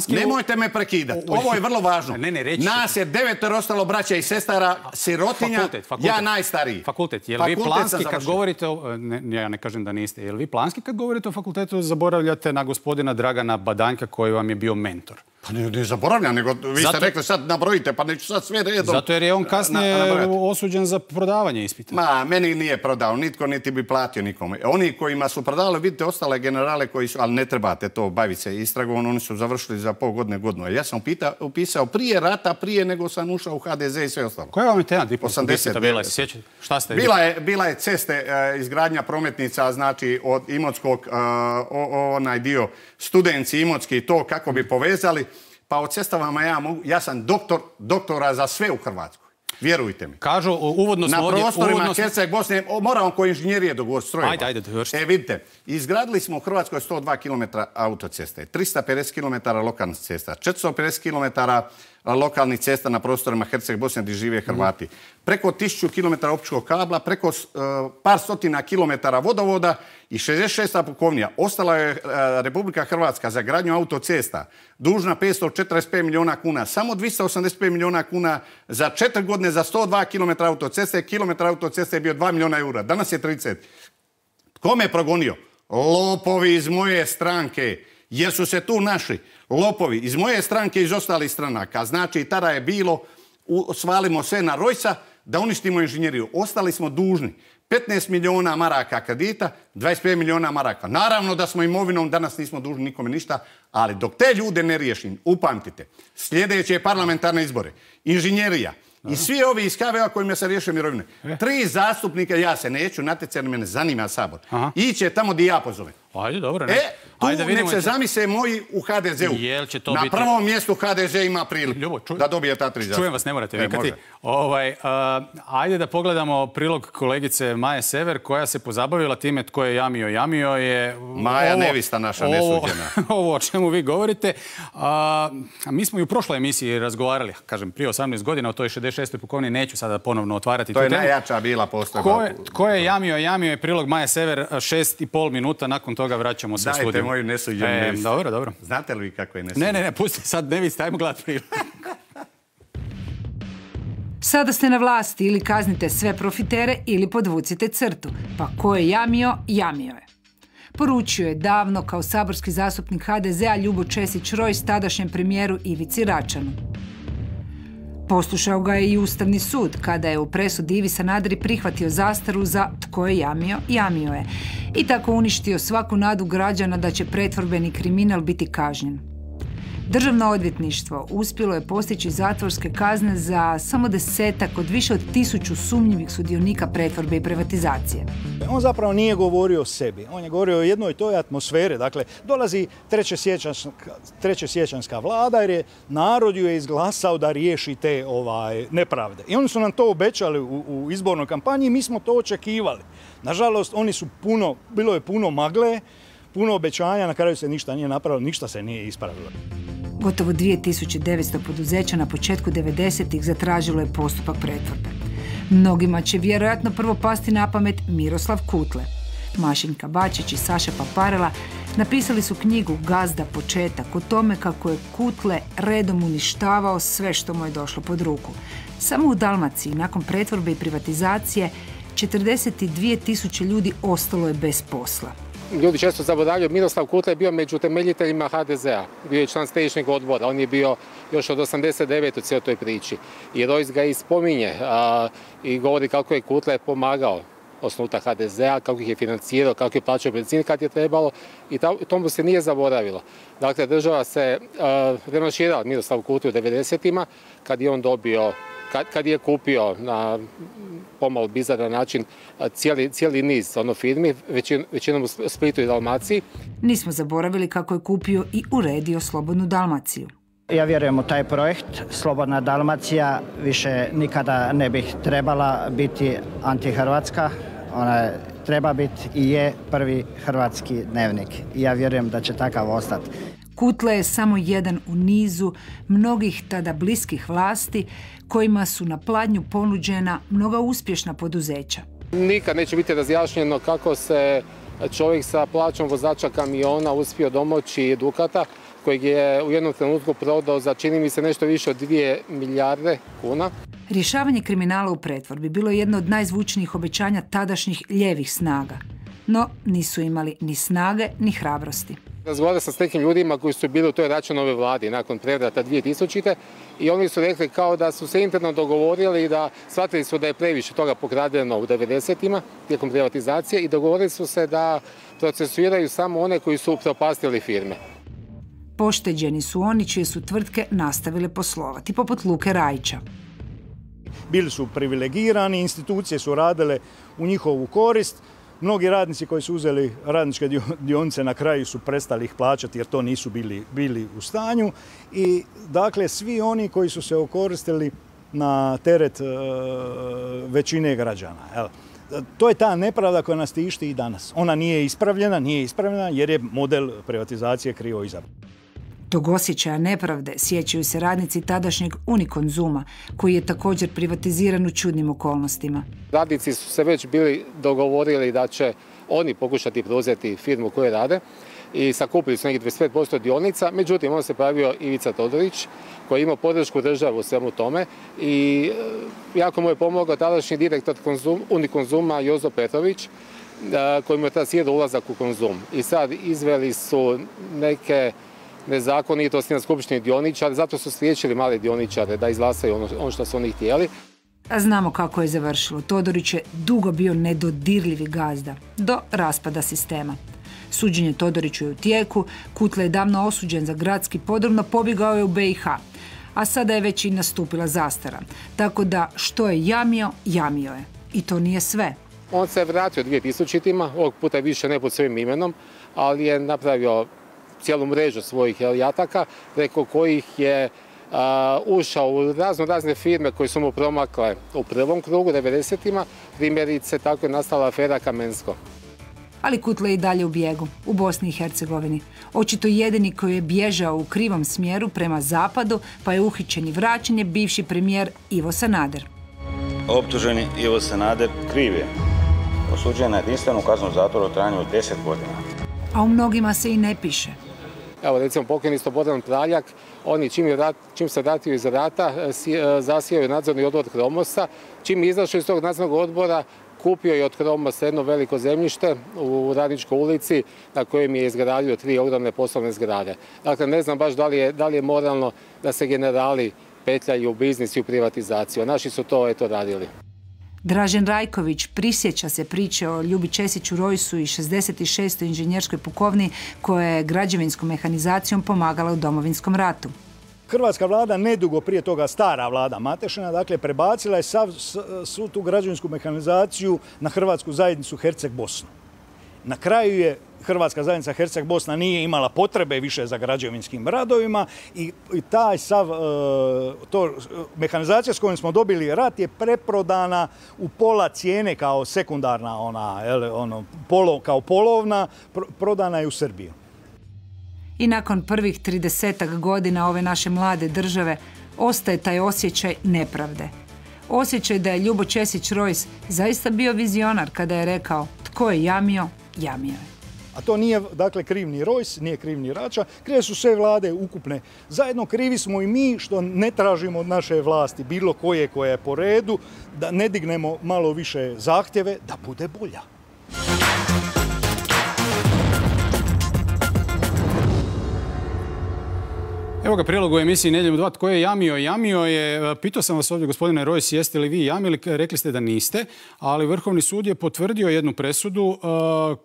Nemojte me prekidati. Ovo je vrlo važno. Nas je devetero ostalo braća i sestara, sirotinja, ja najstariji. Fakultet. Jel vi planski kad govorite, ja ne kažem da niste, jel vi planski kad govorite o fakultetu zaboravljate na gospodina Dragana Badanjka koji vam je bio mentor? Pa ne, ne zaboravljam, nego vi ste rekli sad nabrojite, pa neću sad sve redom. Zato jer je on kasnije osuđen za prodavanje ispita. Ma, meni nije prodao, nitko niti bi platio nikome. Oni kojima su prodali, vidite, ostale generale koji su, ali ne trebate to baviti se istragom, oni su završili za pol godine godinu. Ja sam upita, upisao prije rata, prije nego sam ušao u H D Z i sve ostalo. Koja vam je tema diplomska bila? Sjećate? Šta ste? Bila je, bila je ceste, uh, izgradnja prometnica, znači od Imotskog, uh, o, onaj dio studenci Imotski, to kako bi povezali. Pa o cestama ja mogu, ja sam doktor, doktora za sve u Hrvatskoj. Vjerujte mi. Kažu, uvodno smo na ovdje... Na prostorima uvodno... Herceg Bosne, moram ko inženjerije dogovoriti strojeva. Ajde, ajde, dovršite. E, vidite, izgradili smo u Hrvatskoj sto dva kilometra autoceste, tristo pedeset kilometara lokalnih cesta, četiristo pedeset kilometara lokalnih cesta na prostorima Herceg Bosne gdje žive Hrvati. Mm. Preko tisuću kilometara optičkog kabla, preko uh, par stotina kilometara vodovoda i šezdeset šesta pukovnija. Ostala je uh, Republika Hrvatska za gradnju autocesta dužna petsto četrdeset pet milijuna kuna, samo dvjesto osamdeset pet milijuna kuna za četiri godine za sto dva kilometra autoceste. Kilometar autoceste je bio dva milijuna eura, danas je trideset. Tko me je progonio? Lopovi iz moje stranke. Jer su se tu našli lopovi iz moje stranke i iz ostalih stranaka. Znači, tada je bilo, svalimo sve na Rojsa da uništimo inženjeriju. Ostali smo dužni petnaest milijuna maraka kredita, dvadeset pet milijuna maraka. Naravno da smo imovinom, danas nismo dužni nikome ništa, ali dok te ljude ne riješim, upamtite, sljedeće parlamentarne izbore, inženjerija, I svi ovi iz K V A kojima se riješio mirovine. Tri zastupnika, ja se neću natjecati, mene zanima Sabor. Iće tamo gdje ja pozovem. Ajde, dobro. E, tu nek se zamise moji u H D Z-u. Na prvom mjestu H D Z ima priliku da dobije ta tri zastupnika. Čujem vas, ne morate vikati. Ajde da pogledamo prilog kolegice Maje Sever koja se pozabavila time tko je jamio. Jamio je... Maja nevista naša nesuđena. Ovo o čemu vi govorite. Mi smo i u prošloj emisiji razgovarali, kažem, prije osamnaest godina o toj šezdeset šestoj pukovni, neću sada ponovno otvarati tu temu. To je najjača bila postrojba. Tko je jamio? Jamio je prilog Maje Sever, šest i pol minuta, nakon toga vraćamo se u studiju. Dajte moju nesuđenu nevistu. Dobro, dobro. Znate li vi kako je nesuđena? Ne, ne, ne, pusti sad nevist, ajmo gledati prilog. Sada ste na vlasti, ili kaznite sve profitere ili podvucite crtu. Pa ko je jamio, jamio je. Poručio je davno kao saborski zastupnik H D Z-a Ljubo Česić-Rojs tadašnjem premijeru Ivici Račanu. Poslušao ga je i Ustavni sud kada je u presudi Ivi Sanaderi prihvatio zastaru za tko je jamio, jamio je. I tako uništio svaku nadu građana da će pretvorbeni kriminal biti kažnjen. Državno odvjetništvo uspjelo je postići zatvorske kazne za samo desetak od više od tisuću sumnjivih sudionika pretvorbe i privatizacije. On zapravo nije govorio o sebi, on je govorio o jednoj toj atmosferi. Dakle, dolazi trećesiječanjska vlada jer je narod ju je izglasao da riješi te ovaj, nepravde. I oni su nam to obećali u, u izbornoj kampanji i mi smo to očekivali. Nažalost, oni su puno, bilo je puno magle, puno obećanja, na kraju se ništa nije napravilo, ništa se nije ispravilo. Gotovo dvije tisuće devetsto poduzeća na početku devedesetih zatražilo je postupak pretvorbe. Mnogima će vjerojatno prvo pasti na pamet Miroslav Kutle. Mašinka Bačić i Saša Paparela napisali su knjigu Gazda početak o tome kako je Kutle redom uništavao sve što mu je došlo pod ruku. Samo u Dalmaciji, nakon pretvorbe i privatizacije, četrdeset dvije tisuće ljudi ostalo je bez posla. Ljudi često zaboravljaju, Miroslav Kutle je bio među temeljiteljima H D Z-a. Bio je član središnjeg odbora, on je bio još od osamdeset devete u cijeloj toj priči. I Rojs ga i spominje a, i govori kako je Kutle pomagao osnutak H D Z-a, kako ih je financirao, kako je plaćao benzin kad je trebalo i tomu se nije zaboravilo. Dakle, država se revanširala Miroslav Kutle u devedesetima kad je on dobio, kad, kad je kupio na pomalo bizaran način cijeli, cijeli niz ono firmi, većin, većinom u Splitu i Dalmaciji. Nismo zaboravili kako je kupio i uredio Slobodnu Dalmaciju. Ja vjerujem u taj projekt. Slobodna Dalmacija više nikada ne bi trebala biti antihrvatska. Ona treba biti i je prvi hrvatski dnevnik. I ja vjerujem da će takav ostati. Kutle je samo jedan u nizu mnogih tada bliskih vlasti kojima su na pladnju ponuđena mnoga uspješna poduzeća. Nikad neće biti razjašnjeno kako se čovjek sa plaćom vozača kamiona uspio domoći Dukata, kojeg je u jednom trenutku prodao za, čini mi se, nešto više od dvije milijarde kuna. Rješavanje kriminala u pretvorbi bilo je jedno od najzvučnijih obećanja tadašnjih lijevih snaga. No, nisu imali ni snage, ni hrabrosti. Razgovarao sam s nekim ljudima koji su bili u toj Račanove vladi nakon prevrata dvije tisućite. i oni su rekli kao da su se interno dogovorili i da shvatili su da je previše toga pokradeno u devedesetima tijekom privatizacije i dogovorili su se da procesuiraju samo one koji su upropastili firme. Pošteđeni su oni čije su tvrtke nastavile poslovati, poput Luke Rajića. Bili su privilegirani, institucije su radile u njihovu korist. Mnogi radnici koji su uzeli radničke dionice na kraju su prestali ih plaćati jer to nisu bili, bili u stanju. I dakle, svi oni koji su se okoristili na teret e, većine građana. Evo. To je ta nepravda koja nas tišti i danas. Ona nije ispravljena, nije ispravljena jer je model privatizacije krivo izabran. Tog osjećaja nepravde sjećaju se radnici tadašnjeg Unikonzuma, koji je također privatiziran u čudnim okolnostima. Radnici su se već bili dogovorili da će oni pokušati preuzeti firmu koju rade i sakupili su nekih dvadeset pet posto dionica, međutim on se pravio Ivica Todorić koji je imao podršku države u svemu tome i jako mu je pomogao tadašnji direktor Konzum, Unikonzuma Jozo Petrović koji mu je trasirao ulazak u Konzum. I sad izveli su neke nezakonitosti na skupštini dioničara, zato su spriječili male dioničare da izglasaju ono, ono što su oni htjeli. A znamo kako je završilo. Todorić je dugo bio nedodirljivi gazda, do raspada sistema. Suđenje Todoriću je u tijeku, Kutle je davno osuđen za gradski podrum, no pobjegao je u B i H. a sada je već i nastupila zastara. Tako da što je jamio, jamio je. I to nije sve. On se vratio dvije tisućitima, ovog puta više ne pod svojim imenom, ali je napravio cijelu mrežu svojih jataka, preko kojih je a, ušao u razno razne firme koje su mu promakle u prvom krugu, devedesetima. Primjerice, tako je nastala afera Kamensko. Ali Kutle je i dalje u bijegu, u Bosni i Hercegovini. Očito jedini koji je bježao u krivom smjeru prema zapadu, pa je uhićen i vraćen je bivši premijer Ivo Sanader. Optuženi Ivo Sanader kriv je. Osuđen na jedinstvenu kaznu zatvora u trajanju od deset godina. A u mnogima se i ne piše. Evo, recimo, pokojni Slobodan Praljak, oni čim, je rat, čim se vratio iz rata, zasijao je nadzorni odbor Kromosa. Čim je izašao iz tog nadzornog odbora, kupio je od Kromosa jedno veliko zemljište u Radničkoj ulici na kojem je izgradio tri ogromne poslovne zgrade. Dakle, ne znam baš da li je, da li je moralno da se generali petljaju u biznis i u privatizaciju. A naši su to eto radili. Dražen Rajković prisjeća se priče o Ljubi Česiću Rojsu i šezdeset šestoj inženjerskoj pukovni koja je građevinskom mehanizacijom pomagala u Domovinskom ratu. Hrvatska vlada nedugo prije toga, stara vlada Matešina, dakle prebacila je sav, svu tu građevinsku mehanizaciju na Hrvatsku zajednicu Herceg-Bosnu. Na kraju je Hrvatska zajednica Herceg-Bosna nije imala potrebe više za građevinskim radovima i, i taj sav, to, mehanizacija s kojom smo dobili rat je preprodana u pola cijene kao sekundarna, ona, ono, polo, kao polovna, prodana je u Srbiju. I nakon prvih tridesetak godina ove naše mlade države ostaje taj osjećaj nepravde. Osjećaj da je Ljubo Česić Rojs zaista bio vizionar kada je rekao tko je jamio, jamio je. A to nije, dakle, kriv ni Rojs, nije kriv ni Rača, krive su sve vlade ukupne. Zajedno krivi smo i mi što ne tražimo od naše vlasti bilo koje koja je po redu, da ne dignemo malo više zahtjeve, da bude bolja. Evo ga prilog u emisiji Nedjeljom dva. Tko je jamio? Jamio je, pitao sam vas ovdje, gospodine Rojs, jeste li vi jamili? Rekli ste da niste, ali Vrhovni sud je potvrdio jednu presudu uh,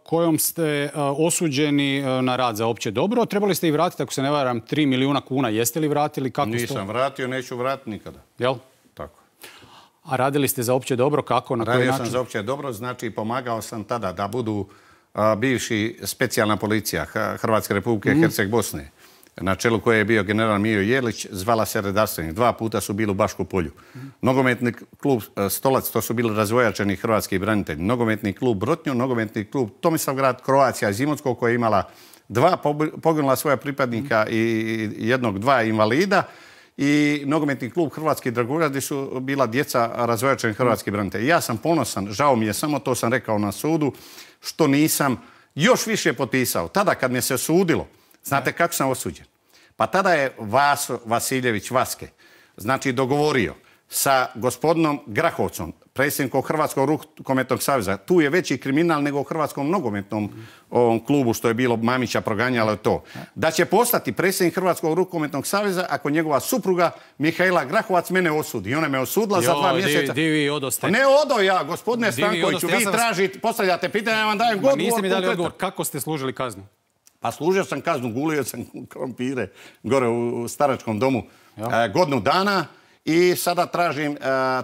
kojom ste uh, osuđeni uh, na rad za opće dobro. Trebali ste i vratiti, ako se ne varam, tri milijuna kuna. Jeste li vratili? Kako Nisam sto... vratio, neću vratiti nikada. Jel? Tako. A radili ste za opće dobro? Kako? Na koji Radio način? sam za opće dobro, znači pomagao sam tada da budu uh, bivši specijalna policija Hrvatske republike mm. Herceg-Bosne, na čelu koje je bio general Mijo Jelić, zvala se redarstvenik. Dva puta su bili u Baškom Polju. Nogometni klub Stolac, to su bili razvojačeni hrvatski branitelji. Nogometni klub Brotnjo, nogometni klub Tomislavgrad, Croatia iz Imotskog koja je imala dva poginula svoja pripadnika i jednog, dva invalida. I nogometni klub Hrvatski Dragovoljac gdje su bila djeca razvojačenih hrvatskih branitelja. Ja sam ponosan, žao mi je, samo to sam rekao na sudu, što nisam još više potpisao. Tada kad mi se osudilo, znate kako sam osuđen? Pa tada je Vaso Vasiljević Vaske, znači dogovorio sa gospodinom Grahovcom, predsjednikom Hrvatskog rukometnog saveza. Tu je veći kriminal nego u Hrvatskom nogometnom ovom klubu što je bilo Mamića proganjalo to. Da će postati predsjednik Hrvatskog rukometnog saveza ako njegova supruga Mihaela Grahovac mene osudi. I ona me osudila za dva mjeseca. Di vi odoste. Ne odo ja, gospodine Stankoviću, vi tražite, postavljate pitanje, ja vam dajem odgovor. Niste mi dali odgovor, kako ste služili kaznu? Pa služio sam kaznu, gulio sam krompire gore u staračkom domu e, godinu dana i sada tražim e,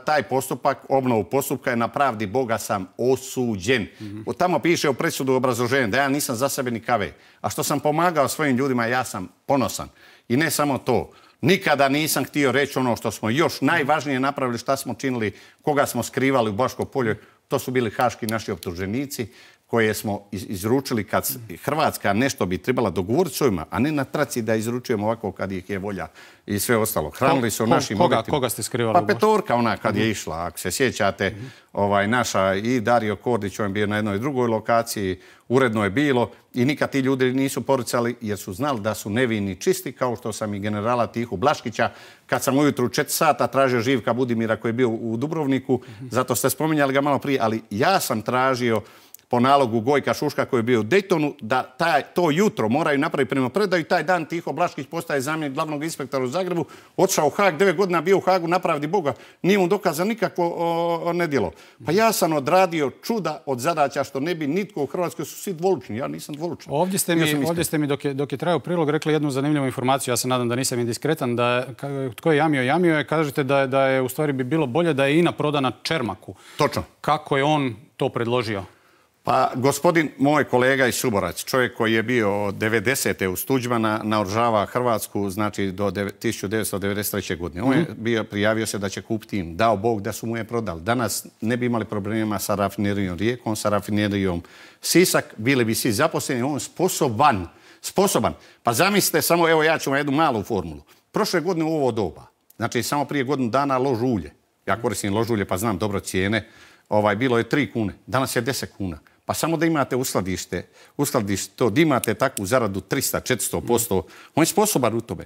taj postupak, obnovu postupka je na pravdi Boga sam osuđen. Mm-hmm. Tamo piše u presudu obrazloženju da ja nisam za sebe ni kave. A što sam pomagao svojim ljudima, ja sam ponosan. I ne samo to. Nikada nisam htio reći ono što smo još najvažnije napravili, šta smo činili, koga smo skrivali u Baškom Polju. To su bili haški naši optuženici koje smo izručili kad Hrvatska nešto bi trebala dogovoriti s ovima, a ne na traci da izručujemo ovako kad ih je volja i sve ostalo. Hranili su našim koga, koga ste skrivali? Pa Petorka ona kad je išla, ako se sjećate, ovaj, naša i Dario Kordić, on je bio na jednoj drugoj lokaciji, uredno je bilo i nikad ti ljudi nisu poricali jer su znali da su nevini čisti, kao što sam i generala Tihu Blaškića, kad sam ujutru četiri sata tražio Živka Budimira koji je bio u Dubrovniku, zato ste spominjali ga malo prije, ali ja sam tražio po nalogu Gojka Šuška koji je bio u Daytonu, da taj, to jutro moraju napraviti primopredaju i taj dan Tiho Blaškić postaje zamjenik glavnog inspektora u Zagrebu, otišao u Hag, devet godina bio u Hagu, napravdi Boga, nije mu dokazano nikakvo o, o, nedjelo. Pa ja sam odradio čuda od zadaća što ne bi nitko u Hrvatskoj, su svi dvolučni, ja nisam dvolučan. Ovdje ste mi, ovdje ste mi dok, je, dok je trajao prilog rekli jednu zanimljivu informaciju, ja se nadam da nisam indiskretan, da tko je jamio, jamio je, kažete da, da je u stvari bi bilo bolje da je INA prodana Čermaku. Točno. Kako je on to predložio? Pa, gospodin, moj kolega iz Suborac, čovjek koji je bio od devedesete uz Tuđmana, naoružava Hrvatsku, znači do tisuću devetsto devedeset treće. godine. On je bio, prijavio se da će kupiti INA. Dao Bog da su mu je prodali. Danas ne bi imali problema sa rafinerijom Rijekom, sa rafinerijom Sisak, bili bi svi zaposleni, on sposoban, sposoban. Pa zamislite samo, evo ja ću vam jednu malu formulu. Prošle godine u ovo doba, znači samo prije godinu dana lož ulje. Ja koristim lož ulje pa znam dobro cijene. Ovaj, bilo je tri kune, danas je deset kuna. Pa samo da imate uskladište, uskladište to, da imate takvu zaradu tristo do četiristo posto, on je sposoban u tome.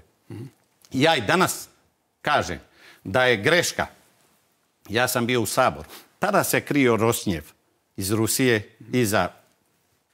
Ja i danas kažem da je greška, ja sam bio u Saboru, tada se krio Rosnjev iz Rusije, iza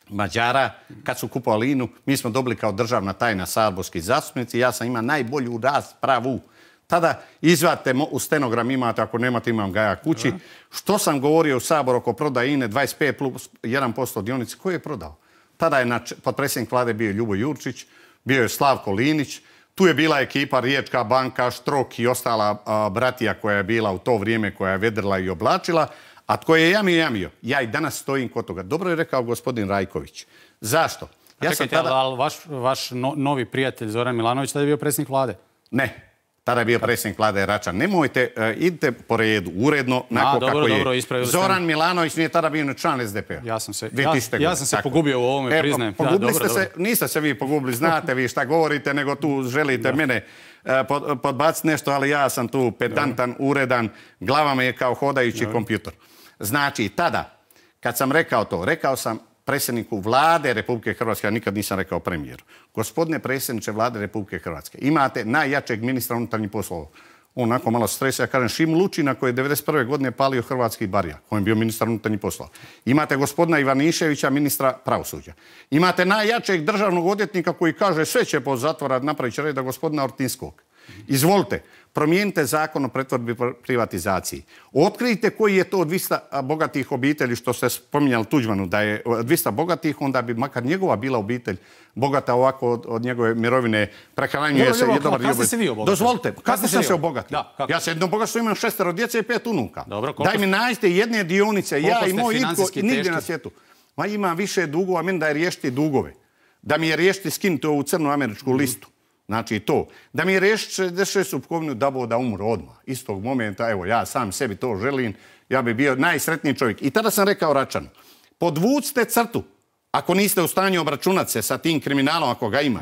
Mađara, kad su kupovali INA-u, mi smo dobili kao državna tajna saborski zastupnici, ja sam imao najbolju raspravu. Tada izvadite u stenogram, imate, ako nemate, imam ga ja kući. Što sam govorio u Saboru oko prodaje INA-e dvadeset pet plus jedan posto dionice, koji je prodao? Tada je potpredsjednik vlade bio Ljubo Jurčić, bio je Slavko Linić, tu je bila ekipa Riječka banka, Štrok i ostala a, bratija koja je bila u to vrijeme, koja je vedrila i oblačila. A tko je jamio, jamio. Ja i danas stojim kod toga. Dobro je rekao gospodin Rajković. Zašto? Ja Čekajte, sam tada... ali vaš, vaš no, novi prijatelj Zoran Milanović tada je bio predsjednik vlade? Ne. Tada je bio predsjednik vlade Račan. Nemojte, uh, idite po redu, uredno, onako kako dobro, je. dobro, Zoran sam... Milanović nije tada bio član S D P-a. Ja sam se, ja, ja sam se pogubio u ovome, e, priznajem. Pogubili da, ste dobro, se, dobro. Niste se vi pogubili, znate vi šta govorite, nego tu želite da. mene uh, pod, podbaciti nešto, ali ja sam tu pedantan, da. uredan, glava me je kao hodajući da. kompjutor. Znači, tada, kad sam rekao to, rekao sam predsjedniku vlade Republike Hrvatske, ja nikad nisam rekao premijeru. Gospodine predsjedniče vlade Republike Hrvatske, imate najjačeg ministra unutarnjih poslova. Onako malo stresa, ja kažem, Šim Lučina koji je devedeset prve godine palio hrvatski barija, koji je bio ministar unutarnjih poslova. Imate gospodina Ivaniševića, ministra pravosuđa. Imate najjačeg državnog odvjetnika koji kaže sve će po zatvora, napravit će reda gospodina Ortinskog. Izvolite, promijenite zakon o pretvorbi i privatizaciji. Otkrijte koji je to dvjesto bogatih obitelji, što ste spominjali Tuđmanu, da je dvjesto bogatih, onda bi makar njegova bila obitelj bogata ovako od, od njegove mirovine, prehranjuje se je dobar ljubav. Kada ste vi obogatili? Dozvolite, kako sam se obogatio? Ja se jedno bogatstvo imam šestero djece i pet unuka. Dobro, Daj mi nađite jedne dionice, ja i moj itko i nigdje na svijetu. Ma imam više dugova, meni da je riješiti dugove. Da mi je riješiti skinuti ovu crnu američku mm. listu. Znači to. Da mi je riješiti šezdeset šestu pukovniju dabo da umru odmah. Istog momenta, evo, ja sam sebi to želim, ja bi bio najsretniji čovjek. I tada sam rekao Račanu, podvucite crtu, ako niste u stanju obračunati se sa tim kriminalom, ako ga ima.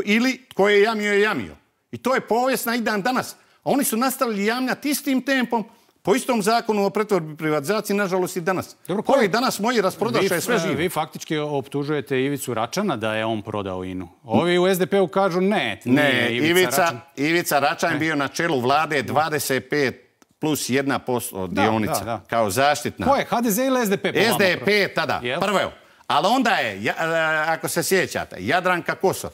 Ili tko je jamio, je jamio. I to je povijesna i dan danas. A oni su nastavili jamljati istim tempom, po istom zakonu o pretvorbi i privatizaciji, nažalost i danas. Dobro, koji danas moji rasprodaše je sve živo. Vi faktički optužujete Ivicu Račana da je on prodao INA-u. Ovi u S D P-u kažu ne, ne nije Ivica, Ivica Račan. Ivica Račan je bio na čelu vlade dvadeset pet plus jedan posto dionica, da, da, da. kao zaštitna. Ko je, H D Z ili S D P? S D P tada, Jel? prvo. Ali onda je, ako se sjećate, Jadranka Kosor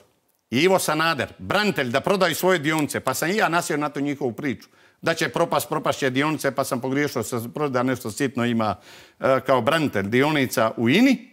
i Ivo Sanader, branitelj da prodaju svoje dionice, pa sam i ja nasio na tu njihovu priču. Da će propast, propast će dionice, pa sam pogriješio da nešto sitno ima e, kao branitelj dionica u INI.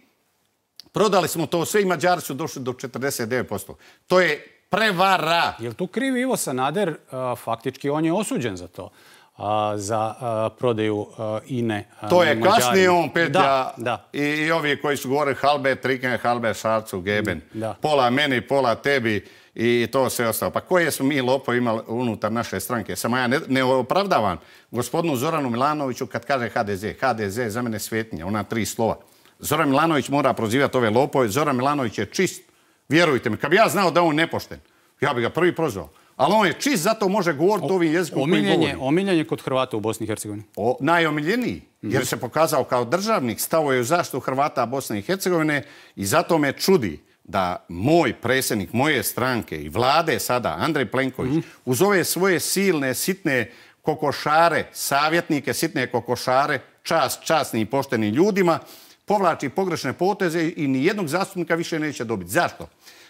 Prodali smo to sve i Mađari su došli do četrdeset devet posto. To je prevara. Je li tu krivi Ivo Sanader? A, faktički on je osuđen za to. A, za a, prodaju a, INE. A, to je kasnije on petlja da, da. I, i ovi koji su govorili halbe, triken, halbe, šarcu, geben. Da. Pola meni, pola tebi. I to sve ostalo. Pa koje smo mi lopovi imali unutar naše stranke? Samo ja ne, ne opravdavam gospodinu Zoranu Milanoviću kad kaže H D Z. H D Z je za mene svetinja, ona tri slova. Zoran Milanović mora prozivati ove lopove. Zoran Milanović je čist. Vjerujte mi, kad bi ja znao da on nepošten, ja bi ga prvi prozvao. Ali on je čist, zato može govoriti ovim jezikom koji govori. Omiljenje kod Hrvata u Bosni i Hercegovini? O, najomiljeniji, jer se pokazao kao državnik, stavo je u zaštitu Hrvata Bosne i Hercegovine i zato me čudi da moj predsjednik moje stranke i vlade sada, Andrej Plenković, mm. uz ove svoje silne, sitne kokošare, savjetnike, sitne kokošare, čast, časni i pošteni ljudima, povlači pogrešne poteze i ni jednog zastupnika više neće dobiti. Zašto?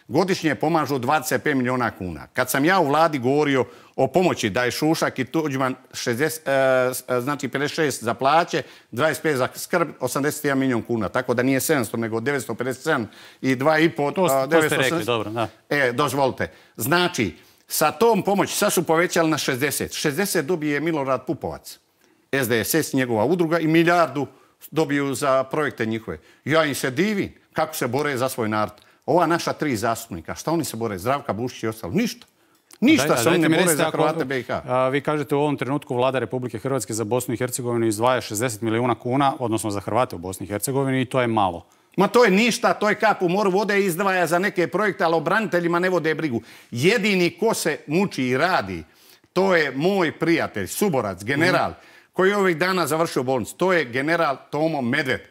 Godišnje pomažu dvadeset pet milijuna kuna. Kad sam ja u vladi govorio o pomoći da je Šušak i Tuđman šezdeset, e, znači pedeset šest za plaće, dvadeset pet za skrb, osamdeset jedan milijun kuna. Tako da nije sedamsto, nego devetsto pedeset sedam i dva i po. To, to ste rekli, dobro. Da. E, dozvolite. Znači, sa tom pomoći sad su povećali na šezdeset. šezdeset dobije Milorad Pupovac, S D S S, njegova udruga, i milijardu dobiju za projekte njihove. Ja im se divim kako se bore za svoj narod. Ova naša tri zastupnika, šta oni se bore? Zdravka Bušić i ostalo? Ništa. Ništa se oni ne bore za Hrvate B i H. Vi kažete u ovom trenutku vlada Republike Hrvatske za Bosnu i Hercegovinu izdvaja šezdeset milijuna kuna, odnosno za Hrvate u Bosni i Hercegovini, i to je malo. Ma to je ništa, to je kap u moru vode, izdvaja za neke projekte, ali o braniteljima ne vode brigu. Jedini ko se muči i radi, to je moj prijatelj, suborac, general, mm. koji je ovih dana završio bolnicu. To je general Tomo Medved.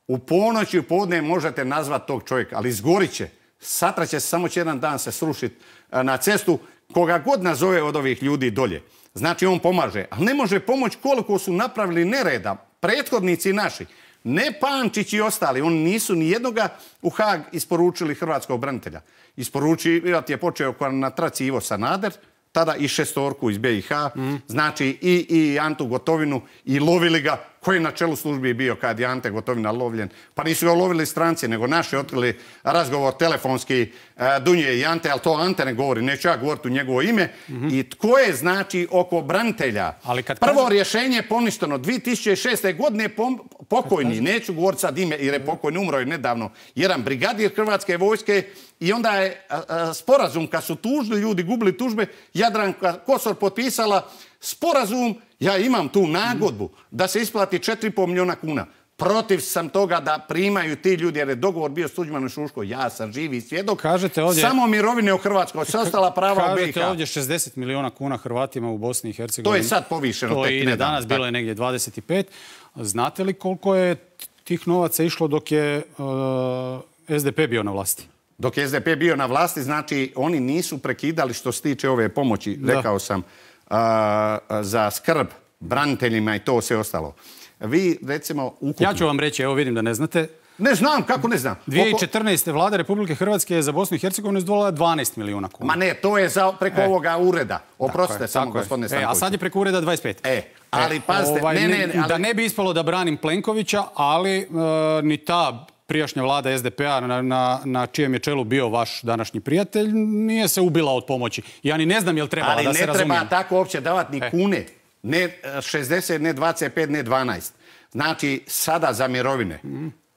U ponoć i u podne možete nazvati tog čovjeka, ali izgorit će. Satra će se, samo će jedan dan se srušiti na cestu, koga god nazove od ovih ljudi dolje. Znači on pomaže, ali ne može pomoći koliko su napravili nereda prethodnici naši. Ne Pančić i ostali, oni nisu ni jednoga u Haag isporučili hrvatskog branitelja. Isporučivati je počeo na traci Ivo Sanader, tada i šestorku iz B i H, mm. znači i, i Antu Gotovinu, i lovili ga, koji je na čelu službi bio kad je Ante Gotovina lovljen. Pa nisu ga lovili stranci, nego naši otkrili razgovor telefonski uh, Dunje i Ante, ali to Ante ne govori, neću ja govoriti u njegovo ime. Mm-hmm. I tko je, znači, oko branitelja? Ali kad Prvo kaže... rješenje je poništeno. dvije tisuće šeste. godine pom... pokojni, kaže... neću govoriti sad ime, jer je pokojni, umro je nedavno, jedan brigadir Hrvatske vojske, i onda je a, a, sporazum, kad su tužili ljudi, gubili tužbe, Jadranka Kosor potpisala sporazum, ja imam tu nagodbu, da se isplati četiri i pol milijuna kuna. Protiv sam toga da primaju ti ljudi, jer je dogovor bio s Tuđmanom i Šuškom. Ja sam živi svjedok. Ovdje, samo mirovine u Hrvatskoj, sve ostala prava u B i H. Kažete ovdje šezdeset milijuna kuna Hrvatima u Bosni i Hercegovini. To je sad povišeno. To je danas bilo je negdje dvadeset pet. Znate li koliko je tih novaca išlo dok je uh, S D P bio na vlasti? Dok je S D P bio na vlasti, znači oni nisu prekidali što se tiče ove pomoći, da. rekao sam, uh, za skrb braniteljima i to sve ostalo. Vi, recimo, ukupno... Ja ću vam reći, evo vidim da ne znate. Ne znam, kako ne znam? dvije tisuće četrnaeste. vlada Republike Hrvatske je za Bosnu i Hercegovinu izdvojila dvanaest milijuna kuna. Ma ne, to je za, preko e. ovoga ureda. Oprostite, samo gospodine Stankoviću. E, a sad je preko ureda dvadeset pet. E, ali e, pazite... Ovaj, ne, ne, ali... Da ne bi ispalo da branim Plenkovića, ali e, ni ta prijašnja vlada S D P-a na, na, na čijem je čelu bio vaš današnji prijatelj nije se ubila od pomoći. Ja ni ne znam je li trebala, ali da se razumijem. Ali ne treba tako uopće davati ni e. kune. Ne šezdeset, ne dvadeset pet, ne dvanaest. Znači, sada za mirovine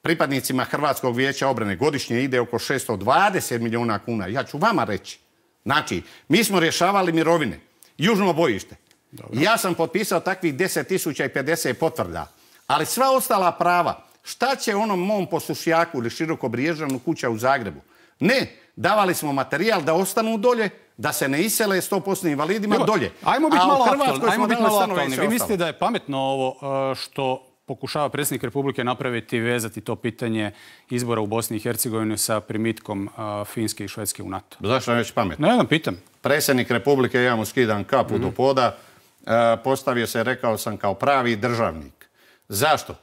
pripadnicima Hrvatskog vijeća obrane godišnje ide oko šesto dvadeset milijuna kuna. Ja ću vama reći. Znači, mi smo rješavali mirovine. Južno bojište. Dobro. Ja sam potpisao takvih deset tisuća pedeset potvrda. Ali sva ostala prava, šta će onom mom poslušijaku ili Širokobriježanu kuća u Zagrebu? Ne, davali smo materijal da ostanu dolje, da se ne isele sto posto invalidima Ljubav. dolje. Ajmo biti malo aktualni. Ajmo biti malo aktualni. Vi mislite da je pametno ovo što pokušava predsjednik Republike napraviti i vezati to pitanje izbora u Bosni i Hercegovini sa primitkom uh, Finske i Švedske u NATO? Zašto je već pametno? Ne, ne, pitam. Predsjednik Republike, ja mu skidam kapu mm-hmm. do poda, uh, postavio se, rekao sam, kao pravi državnik. Zašto?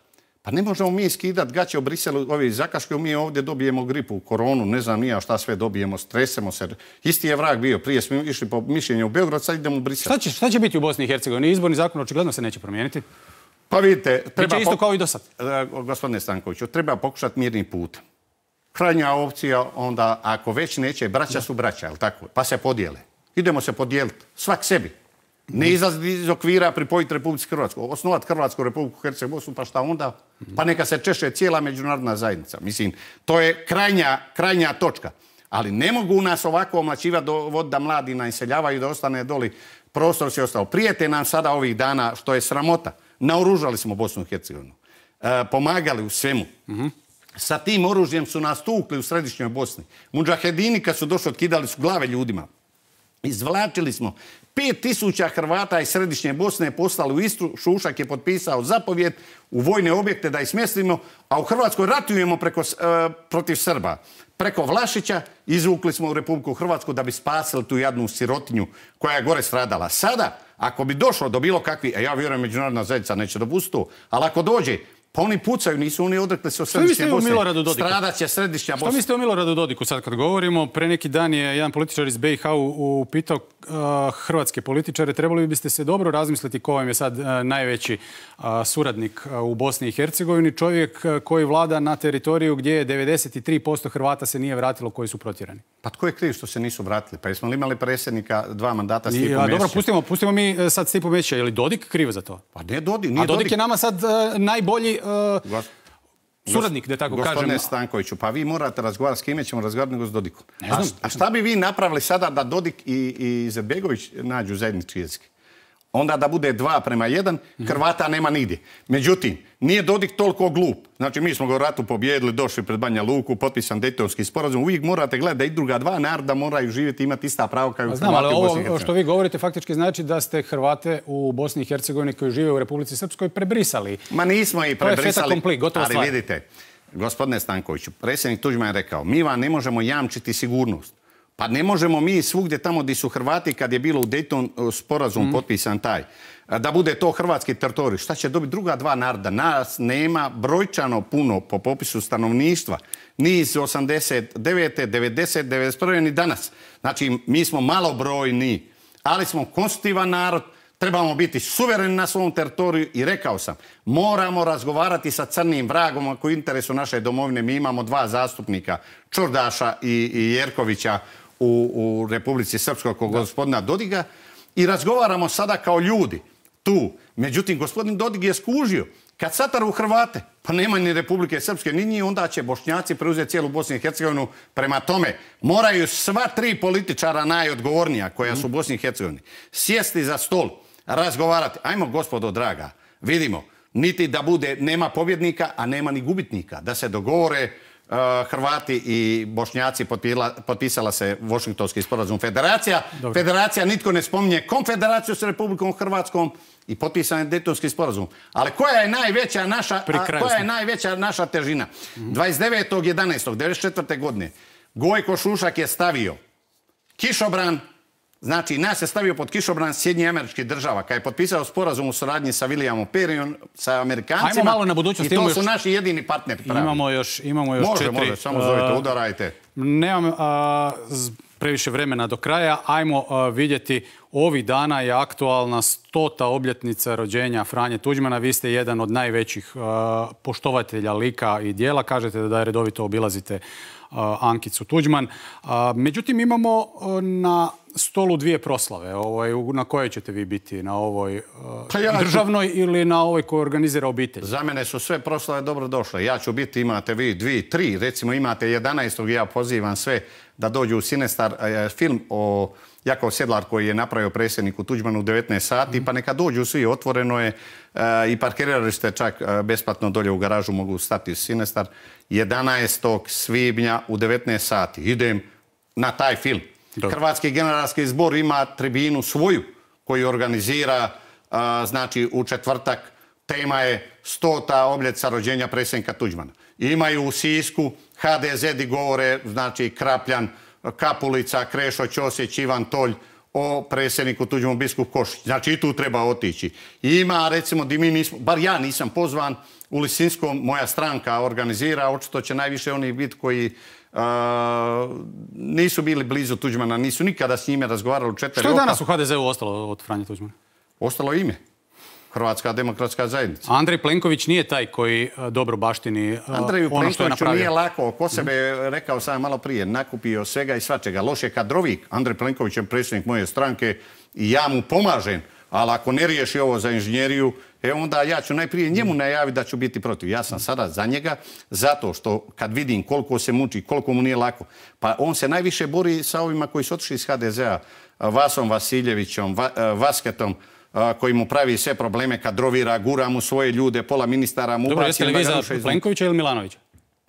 Pa ne možemo mi skidati gaće u Briselu, ovi zakaške, mi ovdje dobijemo gripu, koronu, ne znam nija šta sve dobijemo, stresemo se. Isti je vrag bio, prije smo išli po mišljenju u Beograd, sad idemo u Brisel. Šta će, šta će biti u Bosni i Hercegovini? Izborni zakon očigledno se neće promijeniti. Pa vidite, treba... Biće isto kao i do sad. Gospodine Stankoviću, treba pokušati mirnim putem. Krajnja opcija, onda, ako već neće, braća su braća, jel tako? Pa se podijele. Idemo se podijeliti, svak sebi. Ne izlaziti iz okvira, pripojiti Republici Hrvatskoj, osnovati Hrvatsku Republiku Hercegovinu, pa šta onda? Pa neka se češe cijela međunarodna zajednica. Mislim, to je krajnja, krajnja točka. Ali ne mogu nas ovako omlaćivati da mladi naiseljavaju, da ostane doli prostor se ostalo. Prijete nam sada ovih dana, što je sramota. Naoružali smo Bosnu i Hercegovinu. E, pomagali u svemu. Mm-hmm. Sa tim oružjem su nas tukli u središnjoj Bosni. Mudžahedini kad su došli, otkidali su glave ljudima. Izvlačili smo. Pet tisuća Hrvata iz središnje Bosne poslali u Istru. Šušak je potpisao zapovjed u vojne objekte da ih smjestimo, a u Hrvatskoj ratujemo preko, e, protiv Srba. Preko Vlašića izvukli smo u Republiku Hrvatsku da bi spasili tu jadnu sirotinju koja je gore stradala. Sada, ako bi došlo do bilo kakvi, a ja vjerujem međunarodna zajednica neće dopustiti to, ali ako dođe, Pa oni pucaju, nisu oni odrekli se od središnje Bosne. Stradat će središnja Bosna. Što mislite o Miloradu Dodiku sad kad govorimo? Pre neki dan je jedan političar iz B i H upitao hrvatske političare, trebali biste se dobro razmisliti ko vam je sad najveći suradnik u Bosni i Hercegovini, čovjek koji vlada na teritoriju gdje je devedeset tri posto Hrvata se nije vratilo koji su protjerani. Pa tko je kriv što se nisu vratili? Pa jesmo li imali predsjednika dva mandata Stipu Mesića? Dobro, pustimo, pustimo mi sad Stipu Mesića. Je li Dodik kriv za to? Pa ne Dodik, nije A Dodik je nama sad najbolji Uh, suradnik, da tako kažem. Gospodine Stankoviću, pa vi morate razgovarati s kime ćemo razgovarati nego s Dodikom. A, a šta bi vi napravili sada da Dodik i, i Izetbegović nađu zajednički jezik? Onda da bude dva prema jedan, Hrvata nema nigdje. Međutim, nije Dodik toliko glup. Znači, mi smo ga u ratu pobijedili, došli pred Banja Luku, potpisan Dejtonski sporazum. Uvijek morate gledati da i druga dva naroda moraju živjeti i imati ista prava kao i Hrvati u Bosni i Hercegovini. Ovo što vi govorite faktički znači da ste Hrvate u Bosni i Hercegovini koji žive u Republici Srpskoj prebrisali. Ma nismo ih prebrisali, kompli, ali vidite, gospodine Stankoviću, predsjednik Tuđman je rekao, mi vam ne možemo jamčiti sigurnost. Pa ne možemo mi svugdje tamo gdje su Hrvati, kad je bilo u Dayton sporazum mm. potpisan taj, da bude to hrvatski teritorij. Šta će dobiti druga dva naroda? Nas nema brojčano puno po popisu stanovništva. Ni iz osamdeset devete, devedeset, devedeset prve ni danas. Znači, mi smo malobrojni, ali smo konstitutivan narod, trebamo biti suvereni na svom teritoriju i rekao sam, moramo razgovarati sa crnim vragom ako je u interesu naše domovine. Mi imamo dva zastupnika, Čordaša i, i Jerkovića u, u Republici Srpskoj kod gospodina Dodiga i razgovaramo sada kao ljudi tu. Međutim, gospodin Dodig je skužio. Kad sataru Hrvate, pa nema ni Republike Srpske, ni njih, onda će Bošnjaci preuzeti cijelu Bosnu i Hercegovinu. Prema tome, moraju sva tri političara najodgovornija koja su u Bosni i Hercegovini sjesti za stol, razgovarati. Ajmo, gospodo draga, vidimo, niti da bude, nema pobjednika, a nema ni gubitnika. Da se dogovore uh, Hrvati i Bošnjaci, potpila, potpisala se Washingtonski sporazum federacija. Dobre. Federacija, nitko ne spominje konfederaciju s Republikom Hrvatskom i potpisan je Dejtonski sporazum. Ali koja je najveća naša, a, koja je najveća naša težina? Mm-hmm. dvadeset devetog jedanaestog devedeset četvrte godine Gojko Šušak je stavio kišobran. Znači, nas je stavio pod kišobran Sjedinjenih Američkih Država, kad je potpisao sporazum u suradnji sa Williamom Perryom, sa Amerikancima. Ajmo malo na budućnost. I to još... su naši jedini partneri. Imamo još, imamo još može, četiri. Može, samo zovite, udarajte. Nemam uh, previše vremena do kraja. Ajmo uh, vidjeti, ovih dana je aktualna stota obljetnica rođenja Franje Tuđmana. Vi ste jedan od najvećih uh, poštovatelja lika i dijela. Kažete da redovito obilazite uh, Ankicu Tuđman. Uh, međutim, imamo uh, na stolu dvije proslave. Ovaj, na kojoj ćete vi biti? Na ovoj uh, pa ja državnoj ću... ili na ovoj koju organizira obitelj? Za mene su sve proslave dobro došle. Ja ću biti, imate vi dvije, tri. Recimo imate jedanaestog ja pozivam sve da dođu u Sinestar eh, film o Jakov Sedlar koji je napravio predsjedniku Tuđmanu u devetnaest sati, mm. pa neka dođu svi, otvoreno je eh, i parkirali ste čak eh, besplatno dolje u garažu, mogu stati u Sinestar. jedanaestog svibnja u devetnaest sati. Idem na taj film. Dobre. Hrvatski generalski zbor ima tribinu svoju koju organizira, a, znači u četvrtak. Tema je stota obljetnica rođenja predsjednika Tuđmana. Imaju u Sisku ha de ze di govore, znači Krapljan, Kapulica, Krešo Ćosić, Ivan Tolj o predsjedniku Tuđmanu, biskup Košić. Znači i tu treba otići. Ima, recimo, di mi nismo, bar ja nisam pozvan, u Lisinskom moja stranka organizira, očito će najviše oni biti koji Uh, nisu bili blizu Tuđmana, nisu nikada s njime razgovarali u četiri roka. Što je danas u ha de zeu ostalo od Franje Tuđmana? Ostalo ime. Hrvatska demokratska zajednica. Andrej Plenković nije taj koji uh, dobro baštini uh, Andreju ono što je napravio. Nije lako. Oko sebe, mm. rekao sam malo prije, nakupio svega i svačega. Loš je kadrovik. Andrej Plenković je predsjednik moje stranke i ja mu pomažem. Ali ako ne riješi ovo za inženjeriju, e onda ja ću najprije njemu najaviti da ću biti protiv. Ja sam sada za njega, zato što kad vidim koliko se muči, koliko mu nije lako, pa on se najviše bori sa ovima koji su otišli iz ha de zea, Vasom Vasiljevićom, Vasketom, koji mu pravi sve probleme, kadrovira, gura mu svoje ljude, pola ministara mu... Dobro, jeste li vi za Plenkovića ili Milanovića?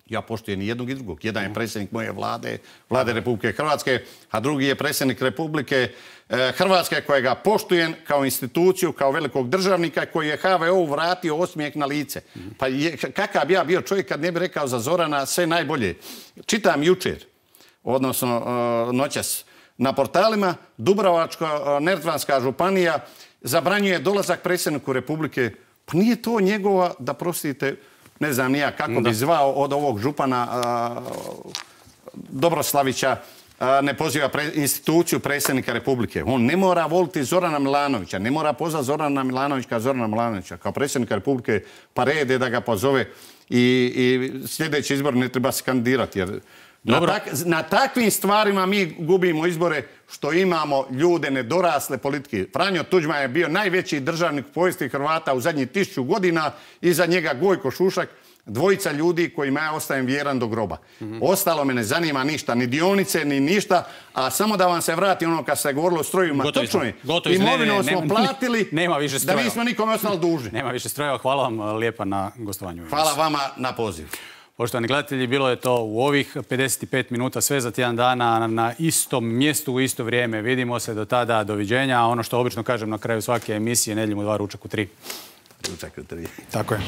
Ja poštujem i jednog i drugog. Jedan je predsjednik moje vlade, vlade Republike Hrvatske, a drugi je predsjednik Republike Hrvatske kojega poštujem kao instituciju, kao velikog državnika koji je ha ve o vratio osmijeh na lice. Pa je, kakav bi ja bio čovjek kad ne bi rekao za Zorana sve najbolje. Čitam jučer, odnosno noćas, na portalima Dubrovačko-Neretvanska županija zabranjuje dolazak predsjedniku Republike. Pa nije to njegova, da prostite, ne znam nija kako bi zvao, od ovog župana Dobroslavića, ne poziva instituciju predsjednika Republike. On ne mora voliti Zorana Milanovića, ne mora pozvati Zorana Milanovića Zorana Milanovića kao predsjednika Republike, pa red je da ga pozove i sljedeći izbor ne treba se kandidirati. Jer na takvim stvarima mi gubimo izbore što imamo ljude nedorasle politike. Franjo Tuđman je bio najveći državnik u povijesti Hrvata u zadnjih tisuću godina, iza njega Gojko Šušak, dvojica ljudi kojima ja ostajem vjeran do groba. Ostalo me ne zanima ništa, ni dionice, ni ništa, a samo da vam se vrati ono kad se govorilo o strojima. Točno je, imovinu smo platili da nismo nikome ostali dužni. Nema više strojeva, hvala vam lijepa na gostovanju. Hvala vama na poziv. Poštovani gledatelji, bilo je to u ovih pedeset pet minuta, sve za tjedan dana na istom mjestu u isto vrijeme. Vidimo se do tada, doviđenja. A ono što obično kažem na kraju svake emisije, nedjeljom u dva, ručak u tri. Ručak u tri. Tako je.